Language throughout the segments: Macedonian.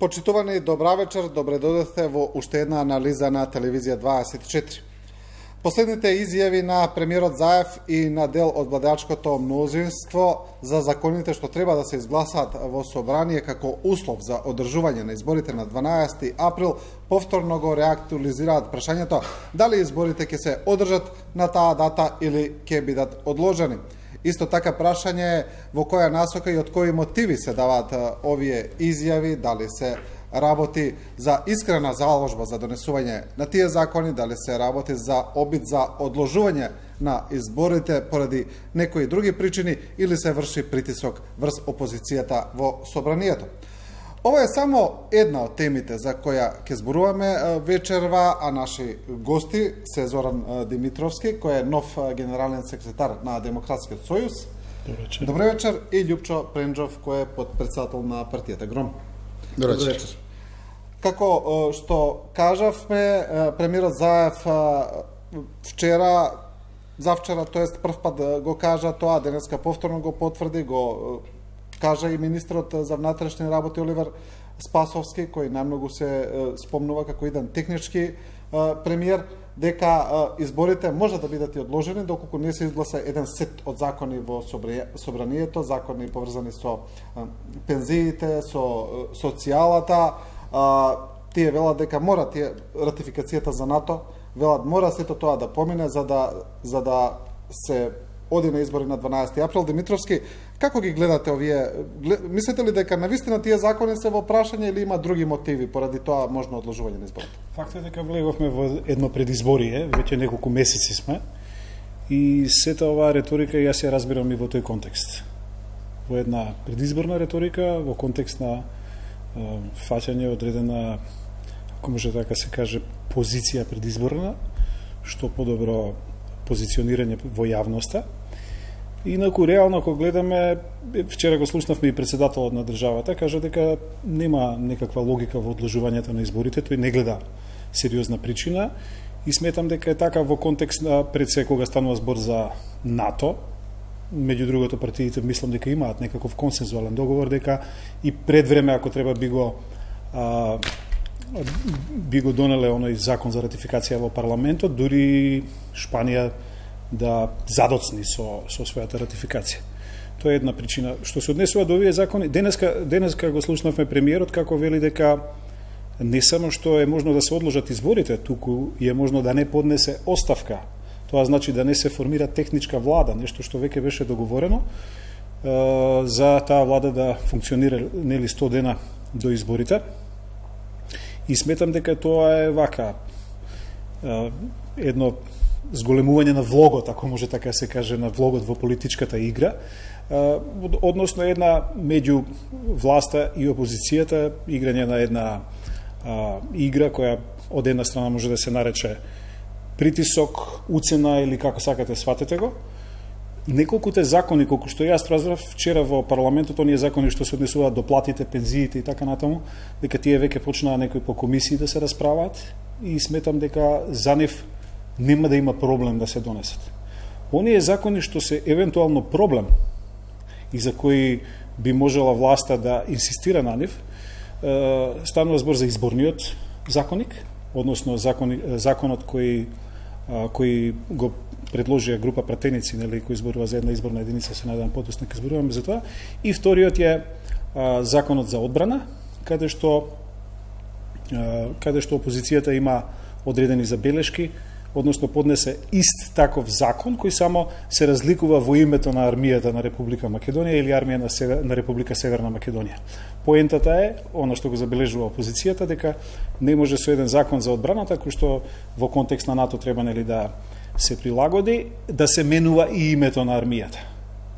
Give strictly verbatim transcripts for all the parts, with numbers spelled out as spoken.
Почитувани, добра вечер, добре дојдовте во уште една анализа на телевизија дваесет и четири. Последните изјави на премиерот Заев и на дел од владеачкото мнозинство за законите што треба да се изгласаат во собрание како услов за одржување на изборите на дванаесети април повторно го реактуализираат прашањето дали изборите ќе се одржат на таа дата или ќе бидат одложени. Исто така прашање е во која насока и од кои мотиви се даваат овие изјави, дали се работи за искрена заложба за донесување на тие закони, дали се работи за обид за одложување на изборите поради некои други причини или се врши притисок врз опозицијата во собранието. Ова е само една од темите за која ќе зборуваме вечерва, а наши гости се Зоран Димитровски, кој е нов генерален секретар на Демократскиот сојуз. Добре вечер. Добре вечер. И Љупчо Пренџов, кој е подпредседател на партијата Гром. Добре вечер. Како што кажавме, премиерот Заев вчера, завчера, тоест прв пат го кажа тоа, денеска повторно го потврди, го кажа и министрот за внатрешни работи Оливер Спасовски, кој најмногу се спомнува како еден технички премиер, дека изборите може да бидат и одложени доколку не се изгласа еден сет од закони во собранието, закони поврзани со пензиите, со социјалата. Тие велат дека мора тие ратификацијата за НАТО, велат мора сето тоа да помине за да за да се оди на избори на дванаесети април. Димитровски, како ги гледате овие? Мислите ли дека навистина тие закони се во прашање или има други мотиви поради тоа можно одложување на изборите? Факт е дека влеговме во едно предизборие, веќе неколку месеци сме, и сета оваа реторика јас ја разбирам и во тој контекст. Во една предизборна реторика, во контекст на фаќање одредена, ако може така се каже, позиција предизборна, што подобро позиционирање во јавноста. Инаку, реално, ако гледаме, вчера го слушнавме и председателот на државата, кажа дека нема некаква логика во одложувањето на изборите, тој не гледа сериозна причина и сметам дека е така во контекст на пред се кога станува збор за НАТО. Меѓу другото, партиите мислам дека имаат некаков консензуален договор, дека и пред време, ако треба, би го а, би го донеле оној закон за ратификација во парламентот, дури Шпанија да задоцни со, со својата ратификација. Тоа е една причина. Што се однесува до овие закони, денеска, денеска го слушнавме премиерот како вели дека не само што е можно да се одложат изборите, туку е можно да не поднесе оставка. Тоа значи да не се формира техничка влада, нешто што веќе беше договорено, е, за таа влада да функционира нели сто дена до изборите. И сметам дека тоа е вака е, едно зголемување на влогот, ако може така се каже, на влогот во политичката игра, е, односно една меѓу власта и опозицијата, играње на една е, игра која од една страна може да се нарече притисок, уцена или како сакате сватете го. Неколкуте закони, колку што јас разбрав вчера во парламентот, оние закони што се однесуваат до платите, пензиите и така натаму, дека тие веќе почнаа некои по комисии да се расправаат и сметам дека за нив нема да има проблем да се донесат. Оние закони што се евентуално проблем и за кои би можела власта да инсистира на нив, станува збор за изборниот законник, односно закони, законот кој кој го предложија група пратеници, нели, кои изборува за една изборна единица, се надевам подоцна ќе зборуваме за тоа. И вториот е а, законот за одбрана, каде што а, каде што опозицијата има одредени забелешки, односно поднесе ист таков закон кој само се разликува во името на армијата на Република Македонија или армија на, Север, на Република Северна Македонија. Поентата е, она што го забележува опозицијата, дека не може со еден закон за одбраната, кој што во контекст на НАТО треба нели да се прилагоди, да се менува и името на армијата.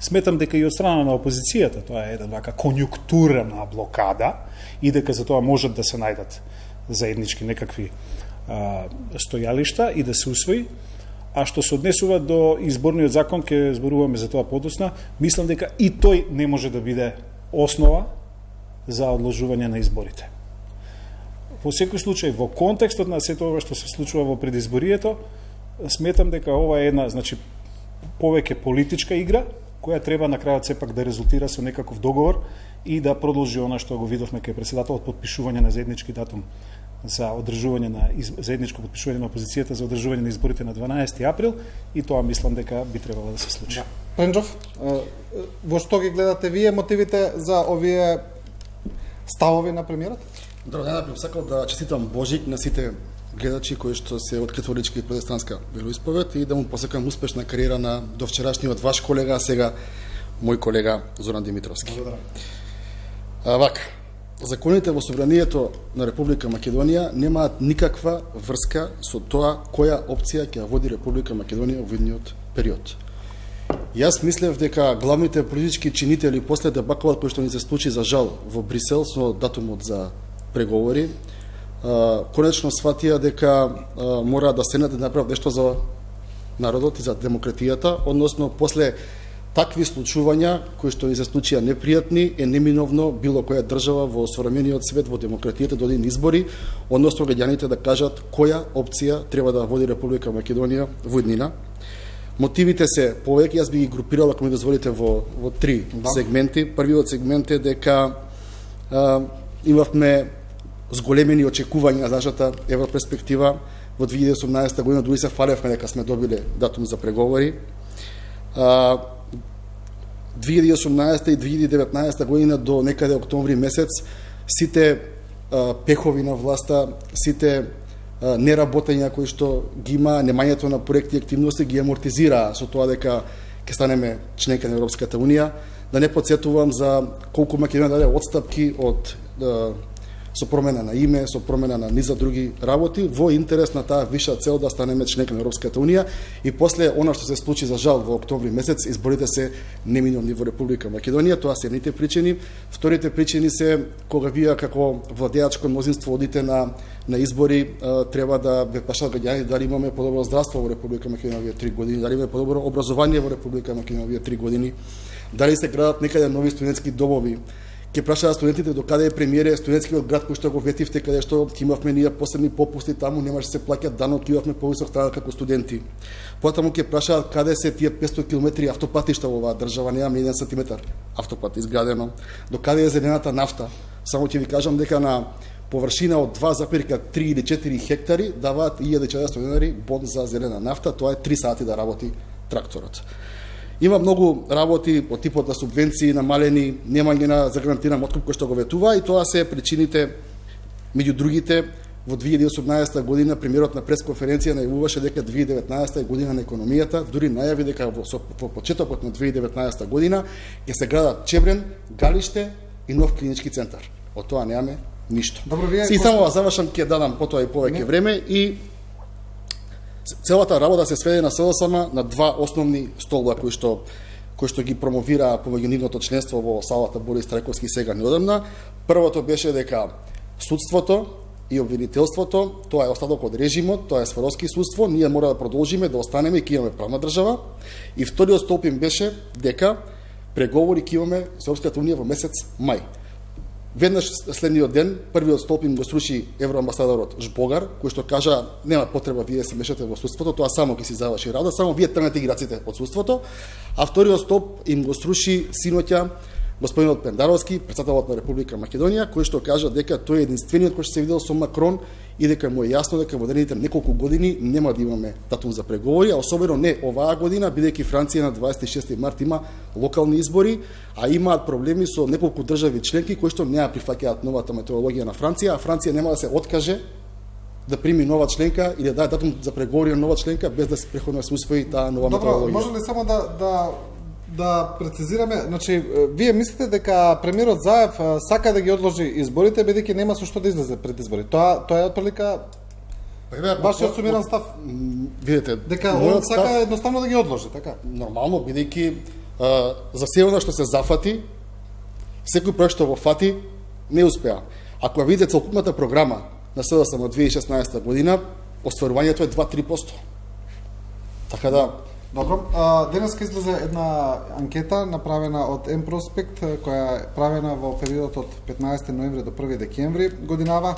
Сметам дека и од страна на опозицијата тоа е една вака конјунктурна блокада и дека за тоа можат да се најдат заеднички некакви а, стојалишта и да се усвои. А што се однесува до изборниот закон, ќе зборуваме за тоа подоцна, мислам дека и тој не може да биде основа за одложување на изборите. Во секој случај, во контекстот на сето ова што се случува во предизборието, сметам дека ова е една, значи, повеќе политичка игра, која треба на крајот сепак да резултира со некаков договор и да продолжи она што го видовме кај председателот, подпишување на заеднички датум за одржување на заедничко подпишување на опозицијата за одржување на изборите на дванаести април, и тоа мислам дека би требало да се случи. Да. Пренџов, во што ги гледате вие мотивите за овие ставови на премиерот? Добро, најнапред сакал да честитам Божик на сите гледачи кои што се од католичка и протестантска вероисповед и да му посакам успешна кариера на довчерашниот ваш колега, а сега мој колега Зоран Димитровски. Благодарам. А, вака, законите во собранието на Република Македонија немаат никаква врска со тоа која опција ќе води Република Македонија во идниот период. Јас мислев дека главните политички чинители после дебакалот кој што ни се случи за жал во Брисел со датумот за преговори, конечно сватија дека мора да седнат да направат нешто за народот и за демократијата, односно после такви случувања кои што ни се случија непријатни, е неминовно било која држава во современиот свет, во демократијата дојде на избори, односно граѓаните да кажат која опција треба да води Република Македонија во иднина. Мотивите се повеќе, јас би ги групирал, ако ми дозволите, во, во три да. сегменти. Првиот сегмент е дека а, имавме зголемени очекувања за нашата европерспектива во две илјади и осумнаесета година, дури се фалевме дека сме добиле датум за преговори. А, две илјади и осумнаесета и две илјади и деветнаесета година до некаде октомври месец сите а, пехови на власта, сите а, неработења кои што ги има, немањето на проекти и активности ги амортизира со тоа дека ќе станеме членка на Европската унија. Да не подсетувам за колку Македонија даде отстапки од а, со промена на име, со промена на низа други работи, во интерес на таа виша цел да станеме членка на Европската унија, и после она што се случи за жал во октомври месец, изборите се неминовни во Република Македонија. Тоа се едните причини. Вторите причини се кога вие како владеачко мнозинство одите на на избори, треба да ве прашаат граѓани дали имаме подобро здравство во Република Македонија овие три години, дали имаме подобро образование во Република Македонија овие три години, дали се градат некаде нови студентски домови. Ќе прашаат студентите до каде е премиере студентскиот град кој што го ветивте, каде што ќе имавме ние посебни попусти, таму немаше се плаќа данок, ќе имавме повисок станок како студенти. Потаму ќе прашаат каде се тие петсто километри автопатишта во оваа држава, немаме еден сантиметар автопат изградено. До каде е зелената нафта? Само ќе ви кажам дека на површина од два зарез три или четири хектари даваат илјада и четиристотини денари бон за зелена нафта, тоа е три сати да работи тракторот. Има многу работи од типот на субвенции, намалени, немање на загарантиран откуп кој што го ветува, и тоа се причините, меѓу другите. Во две илјади и осумнаесета година премиерот на пресконференција најавуваше дека две илјади и деветнаесета е година на економијата, дури најави дека во, во почетокот на две илјади и деветнаесета година ќе се градат Чебрен, Галиште и нов клинички центар. Од тоа немаме ништо. Добро, вие и само завршам, ќе дадам потоа и повеќе време, и целата работа се сведе на СДСМ на два основни столба кои што кои што ги промовира помеѓу нивното членство во салата Борис Трајковски сега неодамна. Првото беше дека судството и обвинителството, тоа е остаток од режимот, тоа е сферовски судство, ние мора да продолжиме да останеме и ќе имаме правна држава. И вториот столб им беше дека преговори ќе имаме со Европската унија во месец мај. Веднаш следниот ден, првиот столб им го сруши евроамбасадорот Жбогар, кој што кажа нема потреба вие да се мешате во судството, тоа само ќе си заврши работа, само вие тргнете играците од судството. А вториот столб им го сруши синоќа господинот Пендаровски, председателот на Република Македонија, кој што кажа дека тој е единствениот кој што се видел со Макрон и дека му е јасно дека во наредните неколку години нема да имаме датум за преговори, а особено не оваа година, бидејќи Франција на дваесет и шести март има локални избори, а имаат проблеми со неколку држави членки кои што не ја прифаќаат новата методологија на Франција, а Франција нема да се откаже да прими нова членка или да даде датум за преговори на нова членка без да се преходно се усвои таа нова Добро, методологија. Може ли само да да да прецизираме, значи вие мислите дека премиерот Заев сака да ги одложи изборите бидејќи нема со што да излезе пред избори. Тоа тоа е отприлика вашиот сумиран став. Видете, дека он сака став, едноставно да ги одложи, така? Нормално, бидејќи за се она што се зафати, секој проект што го фати не успеа. Ако ја видите целокупната програма на СДСМ од две илјади и шеснаесета година, остварувањето е два до три проценти. Така да Добро, денеска излезе една анкета направена од М-Проспект, која е правена во периодот од петнаесети ноември до први декември годинава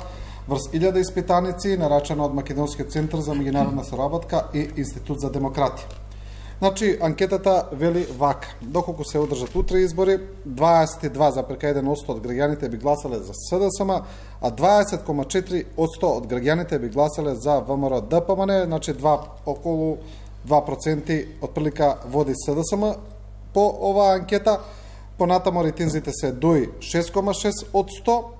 врз илјада испитаници, нарачана од Македонскиот центар за меѓународна соработка и Институт за демократија. Значи, анкетата вели вака. Доколку се одржат утре избори, дваесет и два зарез еден одсто од граѓаните би гласале за СДСМ, а дваесет зарез четири одсто од граѓаните би гласале за ВМРО ДПМН, значи два, околу два проценти од прилика води СДСМ по оваа анкета. Понатамо рейтинзите се ДУИ шест зарез шест одсто,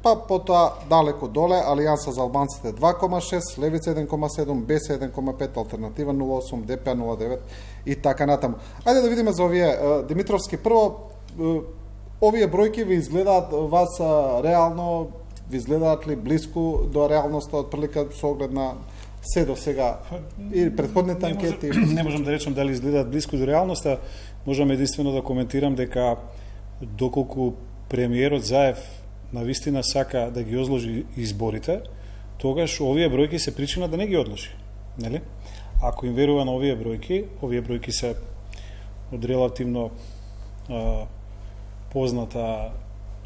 па потоа далеко доле Алијанса за албанците два зарез шест, Левица еден зарез седум, БЕС еден зарез пет, Алтернатива нула осум, ДП нула девет и така натаму. Ајде да видиме за овие Димитровски. Прво, овие бројки ви изгледаат вас реално, ви изгледаат ли близко до реалноста од прилика со оглед на се до сега и предходните анкети? Не, може, не можам да речам дали изгледаат близко до реалноста, можам единствено да коментирам дека доколку премиерот Заев навистина сака да ги одложи изборите, тогаш овие бројки се причина да не ги одложи, нели? Ако им верува на овие бројки, овие бројки се од релативно а, позната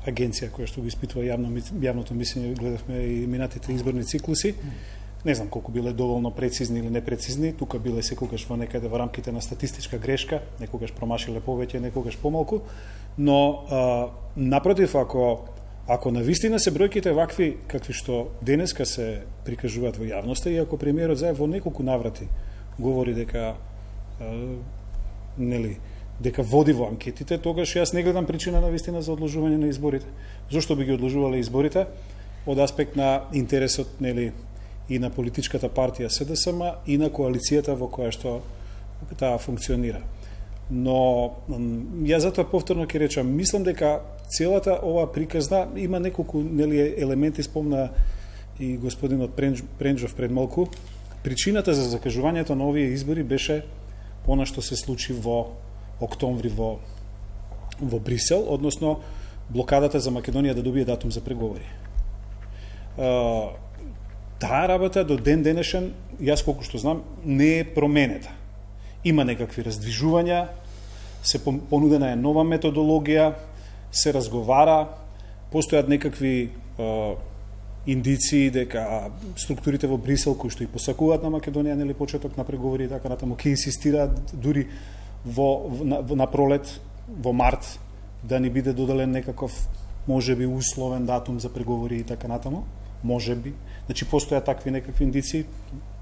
агенција која што го испитува јавно, јавното мислење, гледавме и минатите изборни циклуси. Не знам колку биле доволно прецизни или непрецизни, тука биле секогаш во некаде во рамките на статистичка грешка, некогаш промашиле повеќе, некогаш помалку, но а, напротив, ако Ако навистина се бројките вакви какви што денеска се прикажуваат во јавноста, и ако премиерот Заев во неколку наврати говори дека е, нели дека води во анкетите, тогаш јас не гледам причина навистина за одложување на изборите. Зошто би ги одложувале изборите? Од аспект на интересот, нели, и на политичката партија СДСМ и на коалицијата во која што таа функционира. Но ја затоа повторно ќе речам, мислам дека целата ова приказна има неколку, нели, елементи, спомна и господинот Пренџов пред малку. Причината за закажувањето на овие избори беше она што се случи во октомври во во Брисел, односно блокадата за Македонија да добие датум за преговори. Таа работа до ден денешен, јас колку што знам, не е променета. Има некакви раздвижувања, се понудена е нова методологија, се разговара, постојат некакви е, индиции дека структурите во Брисел кои што и посакуваат на Македонија, нели, почеток на преговори и така натаму, ќе инсистираат дури во на, на пролет, во март, да ни биде доделен некаков можеби условен датум за преговори и така натаму, можеби. Значи постојат такви некакви индиции,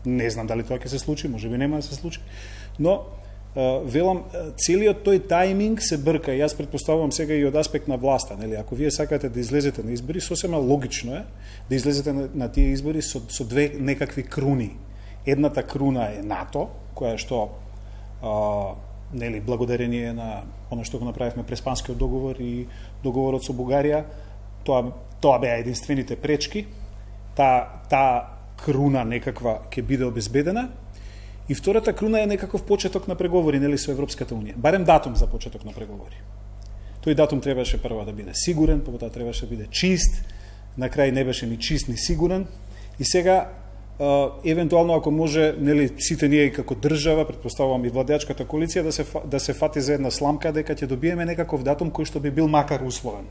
не знам дали тоа ќе се случи, можеби нема да се случи, но велам, целиот тој тајминг се брка. Јас претпоставувам сега и од аспект на власта, нели, ако вие сакате да излезете на избори, сосема логично е да излезете на, на тие избори со, со две некакви круни. Едната круна е НАТО, која што а, нели, благодарение на она што го направивме Преспанскиот договор и договорот со Бугарија, тоа тоа беа единствените пречки. Та та круна некаква ќе биде обезбедена. И втората круна е некаков почеток на преговори, нели, со Европската унија. Барем датум за почеток на преговори. Тој датум требаше прво да биде сигурен, потоа требаше да биде чист, на крај не беше ни чист ни сигурен. И сега евентуално ако може, нели, сите ние како држава, претпоставувам и владеачката коалиција, да се да се фати за една сламка дека ќе добиеме некаков датум кој што би бил макар условен,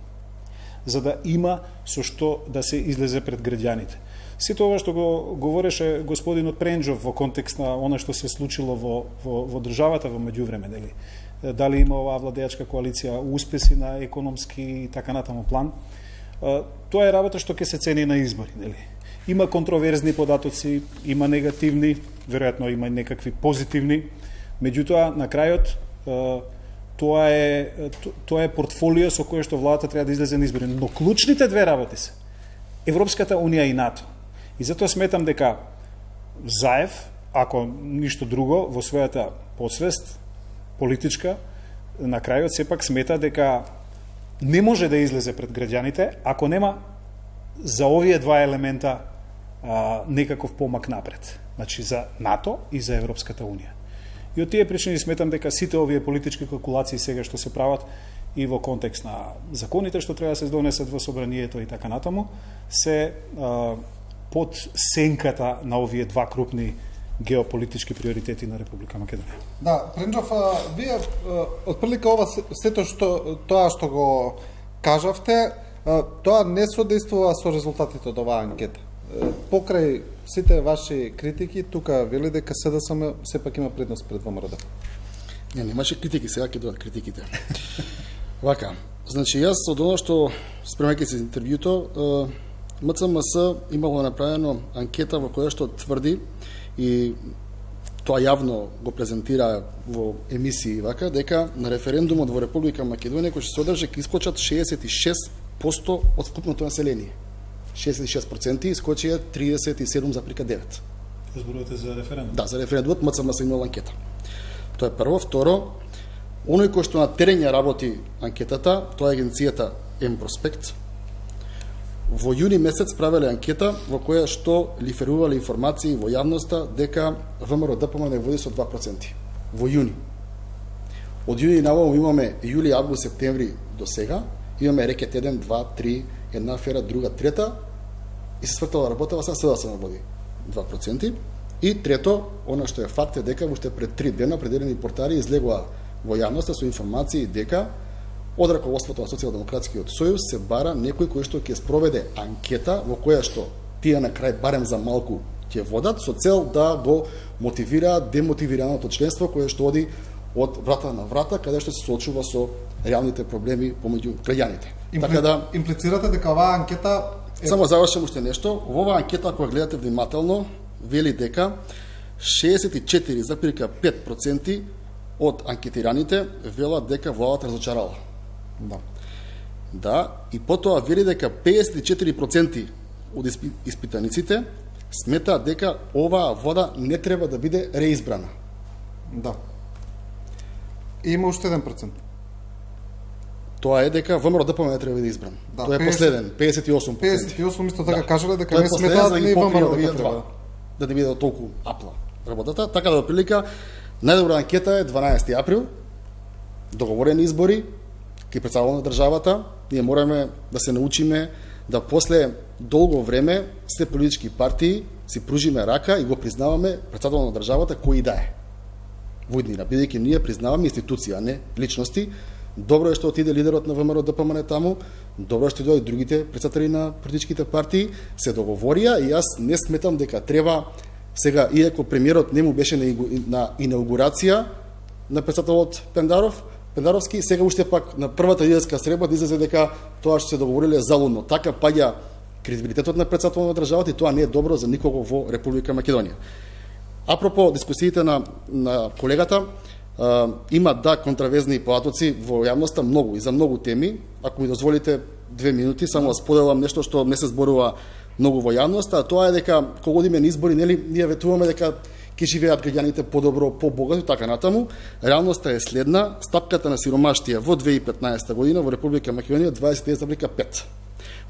за да има со што да се излезе пред граѓаните. Сето ова што го говореше господинот Пренџов во контекст на она што се случило во, во, во државата во меѓувреме, нели? Дали има оваа владеачка коалиција успеси на економски и така натаму план, тоа е работа што ќе се цени на избори, нели? Има контроверзни податоци, има негативни, веројатно има и некакви позитивни, меѓутоа на крајот тоа е тоа е портфолио со кое што владата треба да излезе на избори, но клучните две работи се Европската унија и НАТО. И затоа сметам дека Заев, ако ништо друго, во својата подсвест политичка, на крајот сепак смета дека не може да излезе пред граѓаните ако нема за овие два елемента а, некаков помак напред. Значи за НАТО и за Европската унија. И од тие причини сметам дека сите овие политички калкулации сега што се прават и во контекст на законите што треба да се донесат во собранието и така натаму, се а, под сенката на овие два крупни геополитички приоритети на Република Македонија. Да, Пренџов, вие отприлика ова сето што тоа што го кажавте, тоа не содействува со резултатите од оваа анкета. Покрај сите ваши критики, тука вели дека СДСМ сепак има предност пред ВМРО. Не, немаше критики, сега ќе дојдат критиките. Вака, значи јас од оно што спремајќи се интервјуто, МЦМС имало направено анкета во која што тврди и тоа јавно го презентира во емисии вака, дека на референдумот во Република Македонија кој ќе се одржи ќе искочат шеесет и шест проценти од вкупното население. шеесет и шест проценти искочија тридесет и седум зарез девет. Зборувате за референдум? Да, за референдумот МЦМС имало анкета. Тоа е прво. Второ, оној кој што на терен ја работи анкетата, тоа е агенцијата М-Проспект. Во јуни месец правеле анкета во која што лиферувале информации во јавноста дека ВМРО-ДПМН не води со два проценти. Во јуни. Од јуни наваму имаме јули, август, септември до сега, имаме рекет еден, два, три, една афера, друга, трета, и се свртала работава, сега седа се наводи два проценти. И трето, она што е факт е дека уште пред три дена определени портали излегоа во јавноста со информации дека од раководството на Социјалдемократскиот сојуз се бара некој кој што ќе спроведе анкета во која што тие на крај барем за малку ќе водат со цел да го мотивираат демотивираното членство кое што оди од врата на врата каде што се соочува со реалните проблеми помеѓу граѓаните. Импли... Така да имплицирате дека оваа анкета е... Само завршам уште нешто. Во оваа анкета ако гледате внимателно вели дека шеесет и четири зарез пет проценти од анкетираните велат дека владата разочарала. Да. Да, и потоа вели дека пеесет и четири проценти од испитаниците сметаат дека оваа влада не треба да биде реизбрана. Да. И има уште еден процент. Тоа е дека ВМРО-ДПМН не треба да биде избран. Да, тоа е последен, пеесет и осум проценти. пеесет и осум исто така да. Кажале дека не сметаат ни ВМРО дека треба да не биде толку апла работата. Така да, прилика, најдобра анкета е дванаести април, договорени избори, кај председател на државата, ние мораме да се научиме да после долго време сте политички партии си пружиме рака и го признаваме председател на државата кој и да е. Во иднина, бидејќи ние признаваме институција, а не личности. Добро е што отиде лидерот на ВМРО-ДПМН таму, добро е што дојдат другите председатели на политичките партии, се договорија и јас не сметам дека треба сега, иако премиерот не му беше на инаугурација на председателот Пендаров, Пендаровски, сега уште пак на првата лидерска средба да излезе дека тоа што се договориле залудно. Така паѓа кредибилитетот на председателот на државата и тоа не е добро за никого во Република Македонија. Апропо дискусиите на, на колегата, а, има да контравезни поатоци во јавноста многу и за многу теми. Ако ми дозволите две минути, само да споделам нешто што не се зборува многу во јавноста, а тоа е дека кога одиме на избори, нели, ние ветуваме дека ќе живеат граѓаните подобро, побогато и така натаму. Реалноста е следна: стапката на сиромаштија во две илјади и петнаесета година во Република Македонија дваесет и еден зарез пет.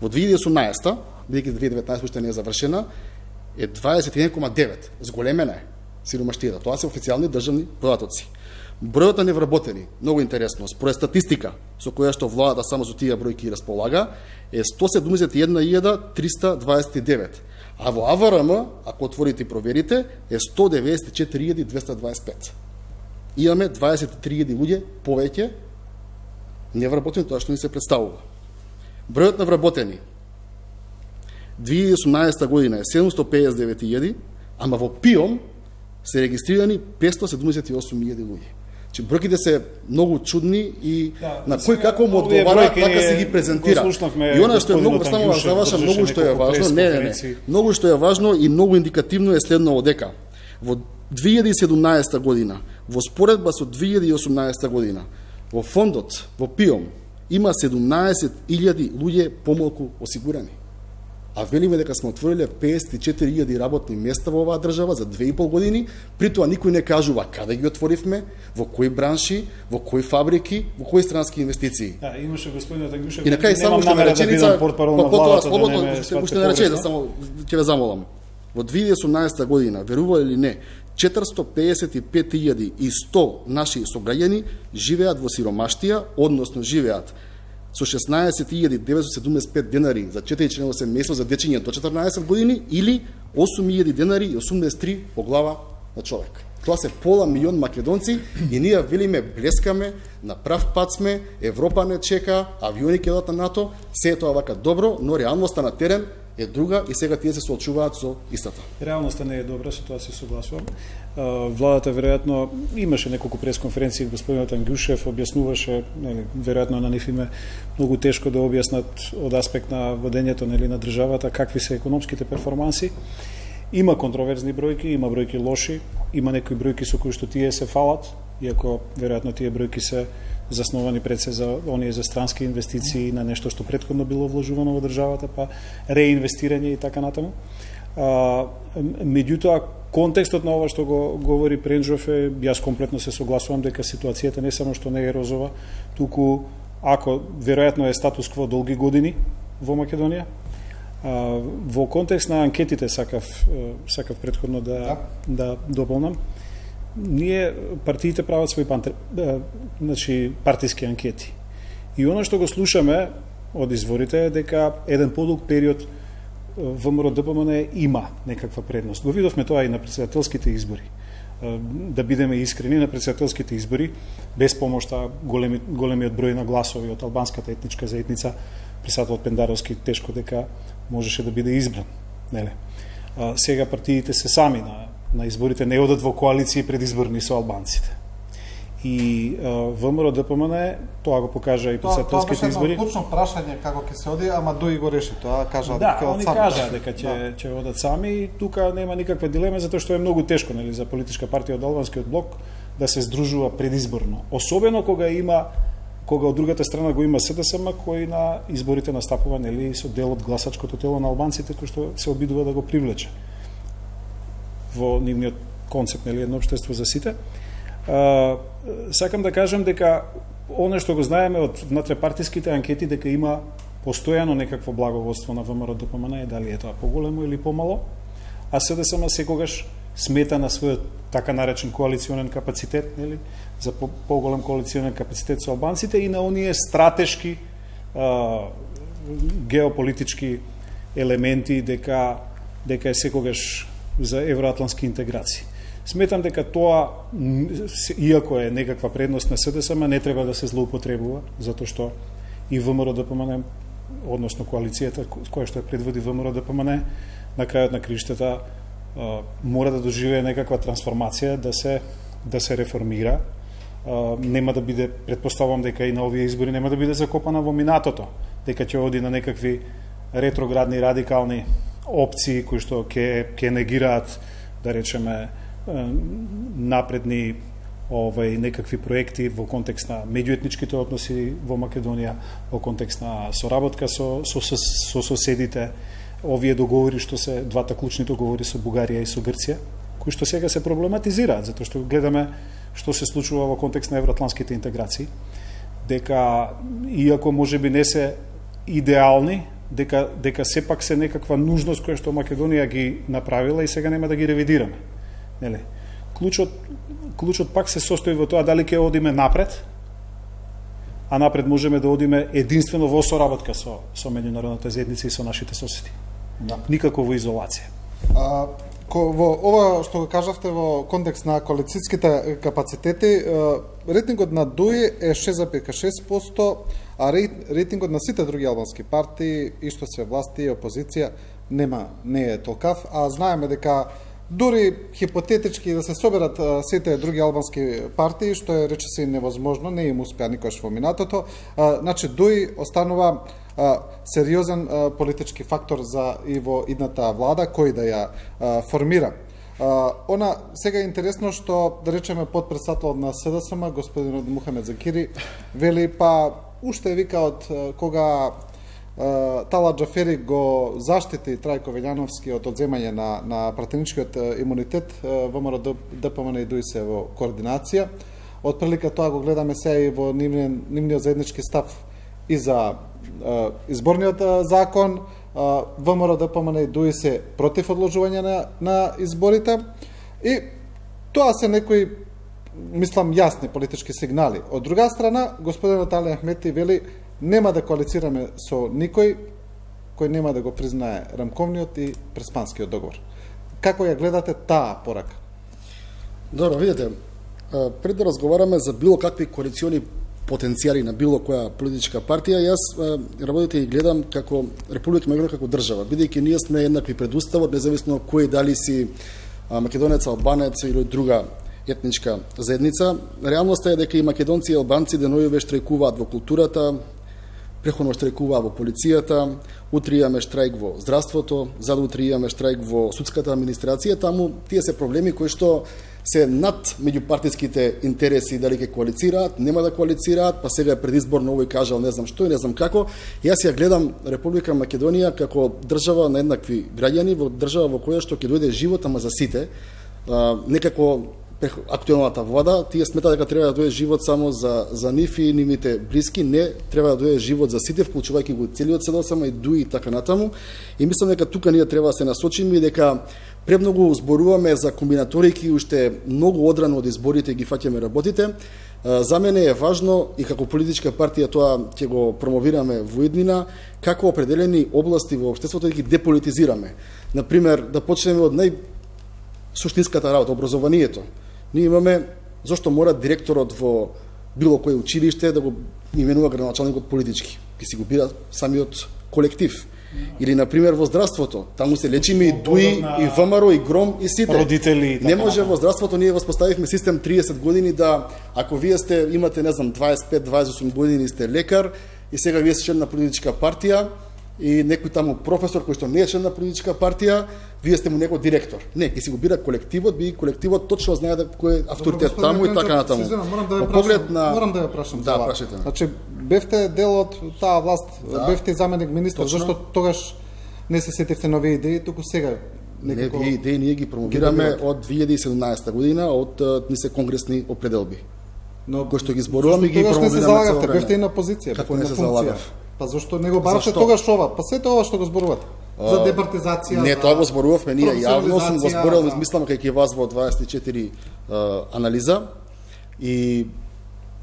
Во две илјади и осумнаесета, бидејќи две илјади и деветнаесета уште не е завршена, е дваесет и еден зарез девет. Зголемена е сиромаштијата. Тоа се официјални државни податоци. Бројот на невработени, многу интересно, според статистика со која што владата само со тие бројки располага, е сто седумдесет и една илјада триста дваесет и девет. А во А В Р М, ако отворите и проверите, е сто деветдесет и четири илјади двеста дваесет и пет. Имаме дваесет и три илјади луѓе повеќе невработени тоа што ни се представува. Бројот на вработени две илјади и осумнаесета година е седумстотини пеесет и девет илјади, ама во ПИОМ се регистрирани петстотини седумдесет и осум илјади луѓе. Че бројките се многу чудни и да, на кој како му одговара, така се ги презентира. И она што е многу, само да завршам, многу што е важно, не, не, не, многу што е важно и многу индикативно е следно дека во две илјади и седумнаесета година, во споредба со две илјади и осумнаесета година, во фондот, во ПИОМ, има седумнаесет илјади луѓе помалку осигурани. А велиме дека сме отвориле пеесет и четири илјади работни места во оваа држава за две и пол години, при тоа никој не кажува каде ги отворивме, во кои бранши, во кои фабрики, во кои странски инвестиции. Да, имаше господинот Ангушев. И на крај само уште на реченица, потоа слободно уште не реченица, само ќе ве замолам. Во две илјади и осумнаесета година, верували или не, четиристотини пеесет и пет илјади и сто наши сограѓани живеат во сиромаштија, односно живеат со шеснаесет илјади деветстотини седумдесет и пет денари за четири членово семејство за дечиња до четрнаесет години или осум илјади денари и осумдесет и три по глава на човек. Тоа се пола милион македонци и ние велиме блескаме, на прав пат сме, Европа не чека, авиони ќе дадат на НАТО, се е тоа вака добро, но реалноста на терен е друга и сега тие се соочуваат со истата. Реалноста не е добра, со тоа се согласувам. Владата веројатно имаше неколку пресконференции, господинот Ангјушев објаснуваше, нели, веројатно на нив име многу тешко да објаснат од аспект на водењето, нели, на државата какви се економските перформанси. Има контроверзни бројки, има бројки лоши, има некои бројки со кои што тие се фалат, иако веројатно тие бројки се засновани пред се за оние за странски инвестиции на нешто што претходно било вложувано во државата, па реинвестирање и така натаму. А, меѓутоа, контекстот на ова што го говори Пренџов е, јас комплетно се согласувам дека ситуацијата не само што не е розова, туку ако веројатно е статус кво долги години во Македонија. А, во контекст на анкетите сакав сакав претходно да да, да дополнам. Ние партиите прават своји пантер, значи партиски анкети. И она што го слушаме од изворите е дека еден подолг период ВМРО-ДПМН има некаква предност. Го видовме тоа и на претседателските избори. Да бидеме искрени, на претседателските избори, без помошта големи, големиот број на гласови од албанската етничка заедница, Присатол Пендаровски тешко дека можеше да биде избран. Неле. А, сега партиите се сами на, на изборите, не одат во коалиции предизборни со албанците. И ВМРО-ДПМН тоа го покажа и претседателските избори. Тоа беше едно прашање како ќе се оди, ама Дуи го реши тоа, кажа да, дека они кажа дека ќе ќе одат сами и тука нема никаква дилема затоа што е многу тешко, нели, за политичка партија од албанскиот блок да се здружува предизборно. Особено кога има кога од другата страна го има СДСМ кој на изборите настапува, нели, со дел од гласачкото тело на албанците кој што се обидува да го привлече во нивниот концепт, нели, едно општество за сите. Uh, сакам да кажам дека оно што го знаеме од внатре-партиските анкети дека има постојано некакво благоводство на ВМРО-ДПМН, е дали е тоа поголемо или помало, а СДСМ секогаш смета на својот така наречен коалиционен капацитет, нели, за по поголем коалиционен капацитет со албанците и на оние стратешки uh, геополитички елементи дека дека е секогаш за евроатлантски интеграции. Сметам дека тоа, иако е некаква предност на СДСМ, не треба да се злоупотребува, затоа што и ВМРО-ДПМН, односно коалицијата која што е предводи ВМРО-ДПМН, на крајот на криштата мора да доживее некаква трансформација, да се да се реформира. Нема да биде, претпоставувам дека и на овие избори нема да биде закопана во минатото, дека ќе оди на некакви ретроградни, радикални опции кои што ќе ќе негираат, да речеме, напредни овај некакви проекти во контекст на меѓуетничките односи во Македонија, во контекст на соработка со со, со, со соседите, овие договори што се двата клучни договори со Бугарија и со Грција, кои што сега се проблематизираат затоа што гледаме што се случува во контекст на евроатлантските интеграции, дека иако можеби не се идеални, дека дека сепак се некаква нужност која што Македонија ги направила и сега нема да ги ревидираме. Нели? Клучот, клучот пак се состои во тоа дали ќе одиме напред, а напред можеме да одиме единствено во соработка со, со меѓународната заедница и со нашите соседи. Да. Никако во изолација. А, ко, во ова што го кажавте во контекст на коалицијските капацитети, рейтингот на Дуи е шест зарез и шест проценти, а рейтингот на сите други албански партии, и што се власти и опозиција, нема, не е толкав, а знаеме дека дури хипотетички да се соберат а, сите други албански партии, што е речиси невозможно, не им успеа никош во минатото, а, значи Дуи останува а, сериозен а, политички фактор за и во идната влада кој да ја а, формира. А, она сега е интересно што, да речеме, подпредседател на СДСМ, господинот Мухамед Закири, вели па уште вика од кога Тала Џафери го заштити Трајко Велјановски од одземање на, на пратеничкиот имунитет, ВМРО-ДПМН и Дуи се во координација. Од прилика тоа го гледаме сега и во нивниот, нивниот заеднички став и за е, изборниот закон. ВМРО-ДПМН и Дуи се против одложување на, на изборите. И тоа се некои, мислам, јасни политички сигнали. Од друга страна, господинот Али Ахмети вели нема да коалицираме со никој кој нема да го признае рамковниот и преспанскиот договор. Како ја гледате таа порака? Добро, видите, пред да разговараме за било какви коалициони потенцијали на било која политичка партија, јас работите и гледам како Република Македонија како држава, бидејќи ние сме еднакви пред уставот, независно кој дали си македонец, албанец или друга етничка заедница. Реалноста е дека и македонци и албанци деновиве штрајкуваат во културата, преходно штрајкуваат во полицијата, утре имаме штрајк во здравството, задутре имаме штрајк во судската администрација, таму тие се проблеми кои што се над меѓупартиските интереси, дали ќе коалицираат, нема да коалицираат, па сега е предизборно овој кажал не знам што и не знам како. Јас ја гледам Република Македонија како држава на еднакви граѓани, во држава во која што ќе дојде живот, ама за сите. А, некако актуелната влада, тие смета дека треба да дојде живот само за за нив и нивните блиски, не, треба да дојде живот за сите, вклучувајќи го целиот седосама и дуи и така натаму. И мислам дека тука ние треба да се насочиме и дека премногу зборуваме за комбинаторики, уште многу одрано од изборите ги фаќаме работите. За мене е важно и како политичка партија тоа ќе го промовираме во иднина, како определени области во општеството да ги деполитизираме. Например, да почнеме од нај суштинската работа, образованието. Ние имаме зошто мора директорот во било кое училиште да го именува градоначалникот политички. Ки си го бира самиот колектив. Или, например, во здравството. Таму се лечиме и ДУИ, и ВМРО, и ГРОМ, и сите. Родители. Не може во здравството, ние воспоставивме систем триесет години да, ако вие сте, имате, не знам, дваесет и пет до дваесет и осум години сте лекар, и сега вие сте член на политичка партија, и некој таму професор кој што не е член на политичка партија, вие сте му некој директор. Не, ќе си го бира колективот, би колективот точно знае да кој е авторитет таму и така натаму. Морам да ја прашам, на... морам да ја прашам. Да, прашајте ме. Значи, бевте дел од таа власт, да. Бевте заменик министар, зашто тогаш не се сетивте нови идеи, туку сега некако... Не, идеи ние ги промовираме од две илјади и седумнаесета година, од ни се конгресни определби. Но кои што ги зборуваме ги промовираме. Тогаш не се залагавте, бевте и на позиција, како не се залагав? Па зашто не го баравте тогаш ова? Па сето ова што го зборувате. За департизација. Не, тоа го зборувавме ние јавно, сум го зборувал, за... мислам кај вас во дваесет и четири uh, анализа и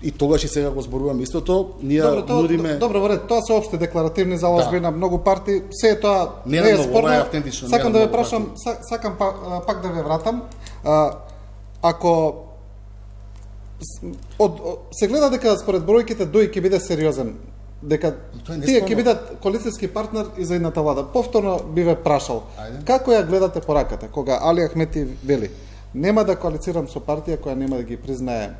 и тогаш и сега го зборуваме истото. Ние добро, тоа, нудиме Добро, во ред, тоа се опште декларативни заложби да. На многу партии, се тоа не, не е спорно. Ова е автентично. Сакам да ве прашам, сакам пак, пак да ве вратам. А, ако од, од се гледа дека според бројките ДУИ ќе биде сериозен, дека тие ќе бидат коалицијски партнер и за едната влада. Повторно би ве прашал, Ајде. Како ја гледате пораката, кога Али Ахмети вели, нема да коалицирам со партија која нема да ги признае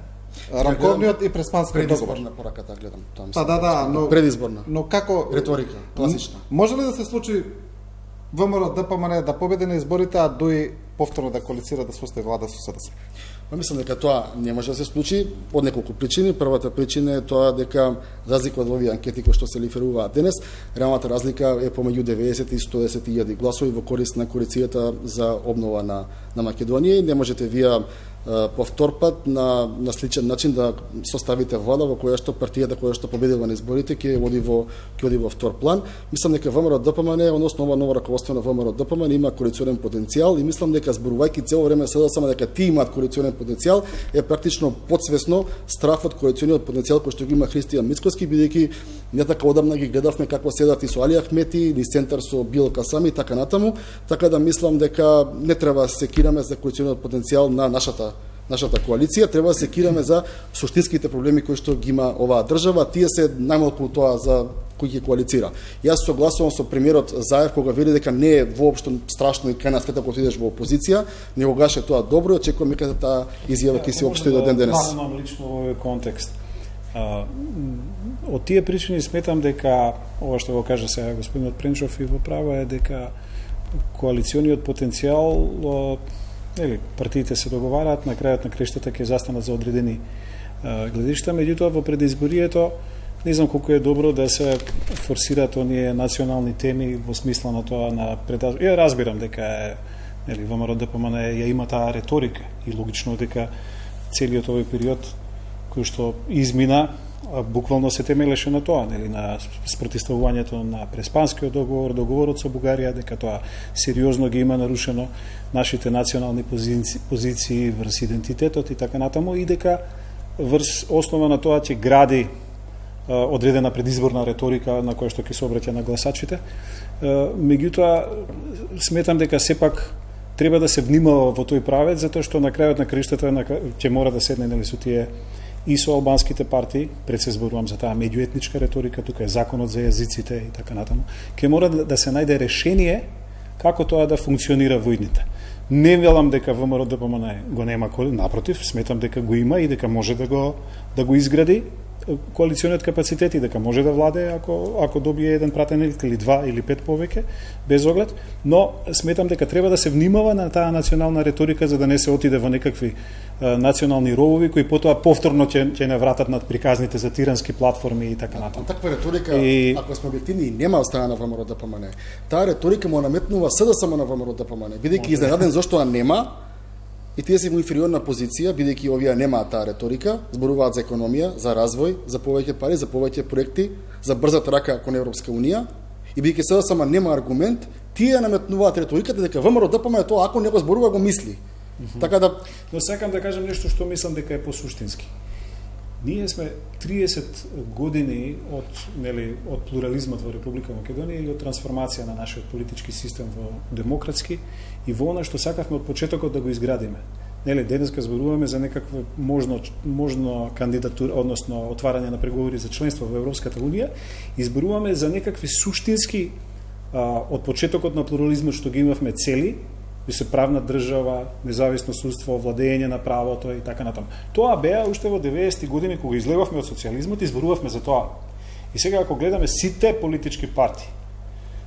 рамковниот и преспанскиот договор. Предизборна пораката гледам, тоа мислам. Па да, да, но предизборна. Но како риторика, класична. Може ли да се случи ВМРО ДПМН да победи на изборите, а ДУИ повторно да коалицира да состави влада со СДС? Па мислам дека тоа не може да се случи од неколку причини. Првата причина е тоа дека разлика од овие анкети кои што се лиферуваат денес, реалната разлика е помеѓу деветдесет и сто и десет илјади гласови во корист на коалицијата за обнова на на Македонија и не можете вие по втор пат на на сличен начин да составите влада во која што партијата која што победила на изборите ќе оди во ќе оди во втор план. Мислам дека ВМРО ДПМН, односно ова ново раководство на ВМРО ДПМН има коалиционен потенцијал и мислам дека зборувајќи цело време седа само дека ти имаат коалиционен потенцијал е практично подсвесно страф од коалициониот потенцијал кој што го има Христијан Мицкоски, бидејќи не така одамна ги гледавме како седат и со Али Ахмети, ни центар со Било Касами и така натаму, така да мислам дека не треба да се секираме за коалициониот потенцијал на нашата нашата коалиција, треба да се секираме за суштинските проблеми кои што ги има оваа држава, тие се најмалку тоа за кој ќе коалицира. Јас согласувам со премиерот Заев кога вели дека не е воопшто страшно и крај на светот кога идеш во опозиција, негогаш е тоа добро и очекувам дека таа изјава ќе се општи до ден денес. Имам лично во овој контекст. А, од тие причини сметам дека ова што го кажа сега господинот Пренчов и во право е дека коалициониот потенцијал, ели, партиите се договараат, на крајот на крештата ќе застанат за одредени а, гледишта, меѓутоа во предизборието не знам колку е добро да се форсираат оние национални теми во смисла на тоа на предаз... Ја разбирам дека е, нели, ВМРО ДПМН ја има таа реторика и логично дека целиот овој период кој што измина буквално се темелеше на тоа, нели, на спротивставувањето на Преспанскиот договор, договорот со Бугарија, дека тоа сериозно ги има нарушено нашите национални позиции, позиции врз идентитетот и така натаму, и дека врз основа на тоа ќе гради а, одредена предизборна реторика на која што ќе се обраќа на гласачите. А, меѓутоа, сметам дека сепак треба да се внимава во тој правец, затоа што на крајот на криштата ќе мора да седне, нели, со тие и со албанските партии, пред се зборувам за таа меѓуетничка риторика, тука е законот за јазиците и така натаму, ќе мора да се најде решение како тоа да функционира во идните. Не велам дека ВМРО Д П М Н го нема, напротив, сметам дека го има и дека може да го да го изгради коалициониот капацитет и дека може да владе ако ако добие еден пратеник или два или пет повеќе без оглед, но сметам дека треба да се внимава на таа национална риторика за да не се отиде во некакви а, национални ровови кои потоа повторно ќе ќе не вратат над приказните за тирански платформи и така натаму. Таква риторика, и... ако сме објективни, нема од страна на ВМРО Д П М Н. Таа риторика му наметнува С Д С М на ВМРО Д П М Н, бидејќи изненаден зашто ја нема. И тие се во инфериорна позиција, бидејќи овие немаат таа риторика, зборуваат за економија, за развој, за повеќе пари, за повеќе проекти, за брзата рака кон Европска унија. И бидејќи С Д С М нема аргумент, тие наметнуваат риториката дека ВМРО Д П М Н тоа ако не го зборува го мисли. Mm -hmm. Така да, но сакам да кажам нешто што мислам дека е посуштински. Ние сме триесет години од, нели, од плурализмот во Република Македонија и од трансформација на нашиот политички систем во демократски и во она што сакавме од почетокот да го изградиме. Нели, денеска зборуваме за некаква можно можно кандидатура, односно отварање на преговори за членство во Европската унија и зборуваме за некакви суштински а, од почетокот на плурализмот што ги имавме цели, би се правна држава, независно судство, владење на правото и така натаму. Тоа беа уште во деветдесетти години кога излегавме од социјализмот и зборувавме за тоа. И сега ако гледаме сите политички партии,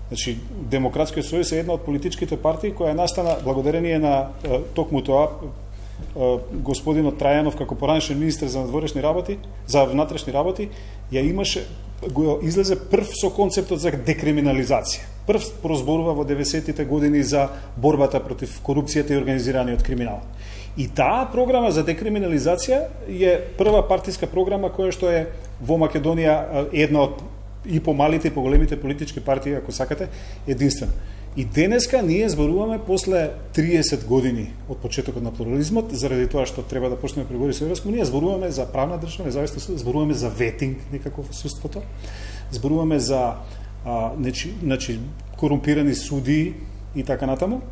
значи Демократскиот сојуз е една од политичките партии која е настана благодарение на е, токму тоа е, господинот Трајанов како поранешен министер за надворешни работи, за внатрешни работи, ја имаше го излезе прв со концептот за декриминализација. Прв прозборува во деветдесеттите години за борбата против корупцијата и организираниот криминал. И таа програма за декриминализација е прва партиска програма која што е во Македонија една од и помалите и поголемите политички партии, ако сакате, единствена. И денеска ние зборуваме после триесет години од почетокот на плурализмот, заради тоа што треба да почнеме преговори со Европска унија, зборуваме за правна држава, независно суд, зборуваме за ветинг некако во судството, зборуваме за а, нечи, значи, корумпирани суди и така натаму.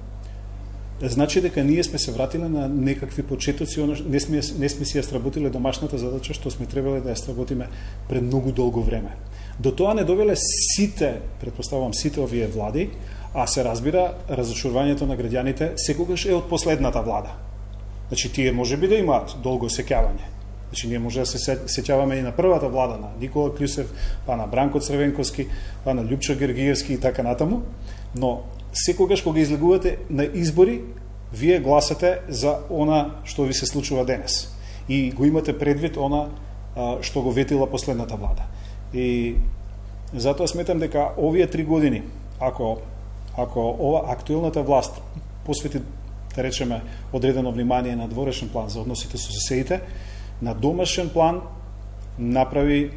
Значи дека ние сме се вратиле на некакви почетоци, не сме, не сме си ја сработиле домашната задача што сме требале да ја сработиме пред многу долго време. До тоа не довеле сите, предпоставувам сите овие влади, а се разбира разочарувањето на граѓаните секогаш е од последната влада. Значи тие може би да имаат долго сеќавање. Значи ние може да се сеќаваме и на првата влада на Никола Клјусев, па на Бранко Црвенковски, па на Љупчо Гергиевски и така натаму, но секогаш кога излегувате на избори, вие гласате за она што ви се случува денес. И го имате предвид она што го ветила последната влада. И затоа сметам дека овие три години, ако ако ова актуелната власт посвети, да речеме, одредено внимание на дворешен план за односите со соседите, на домашен план направи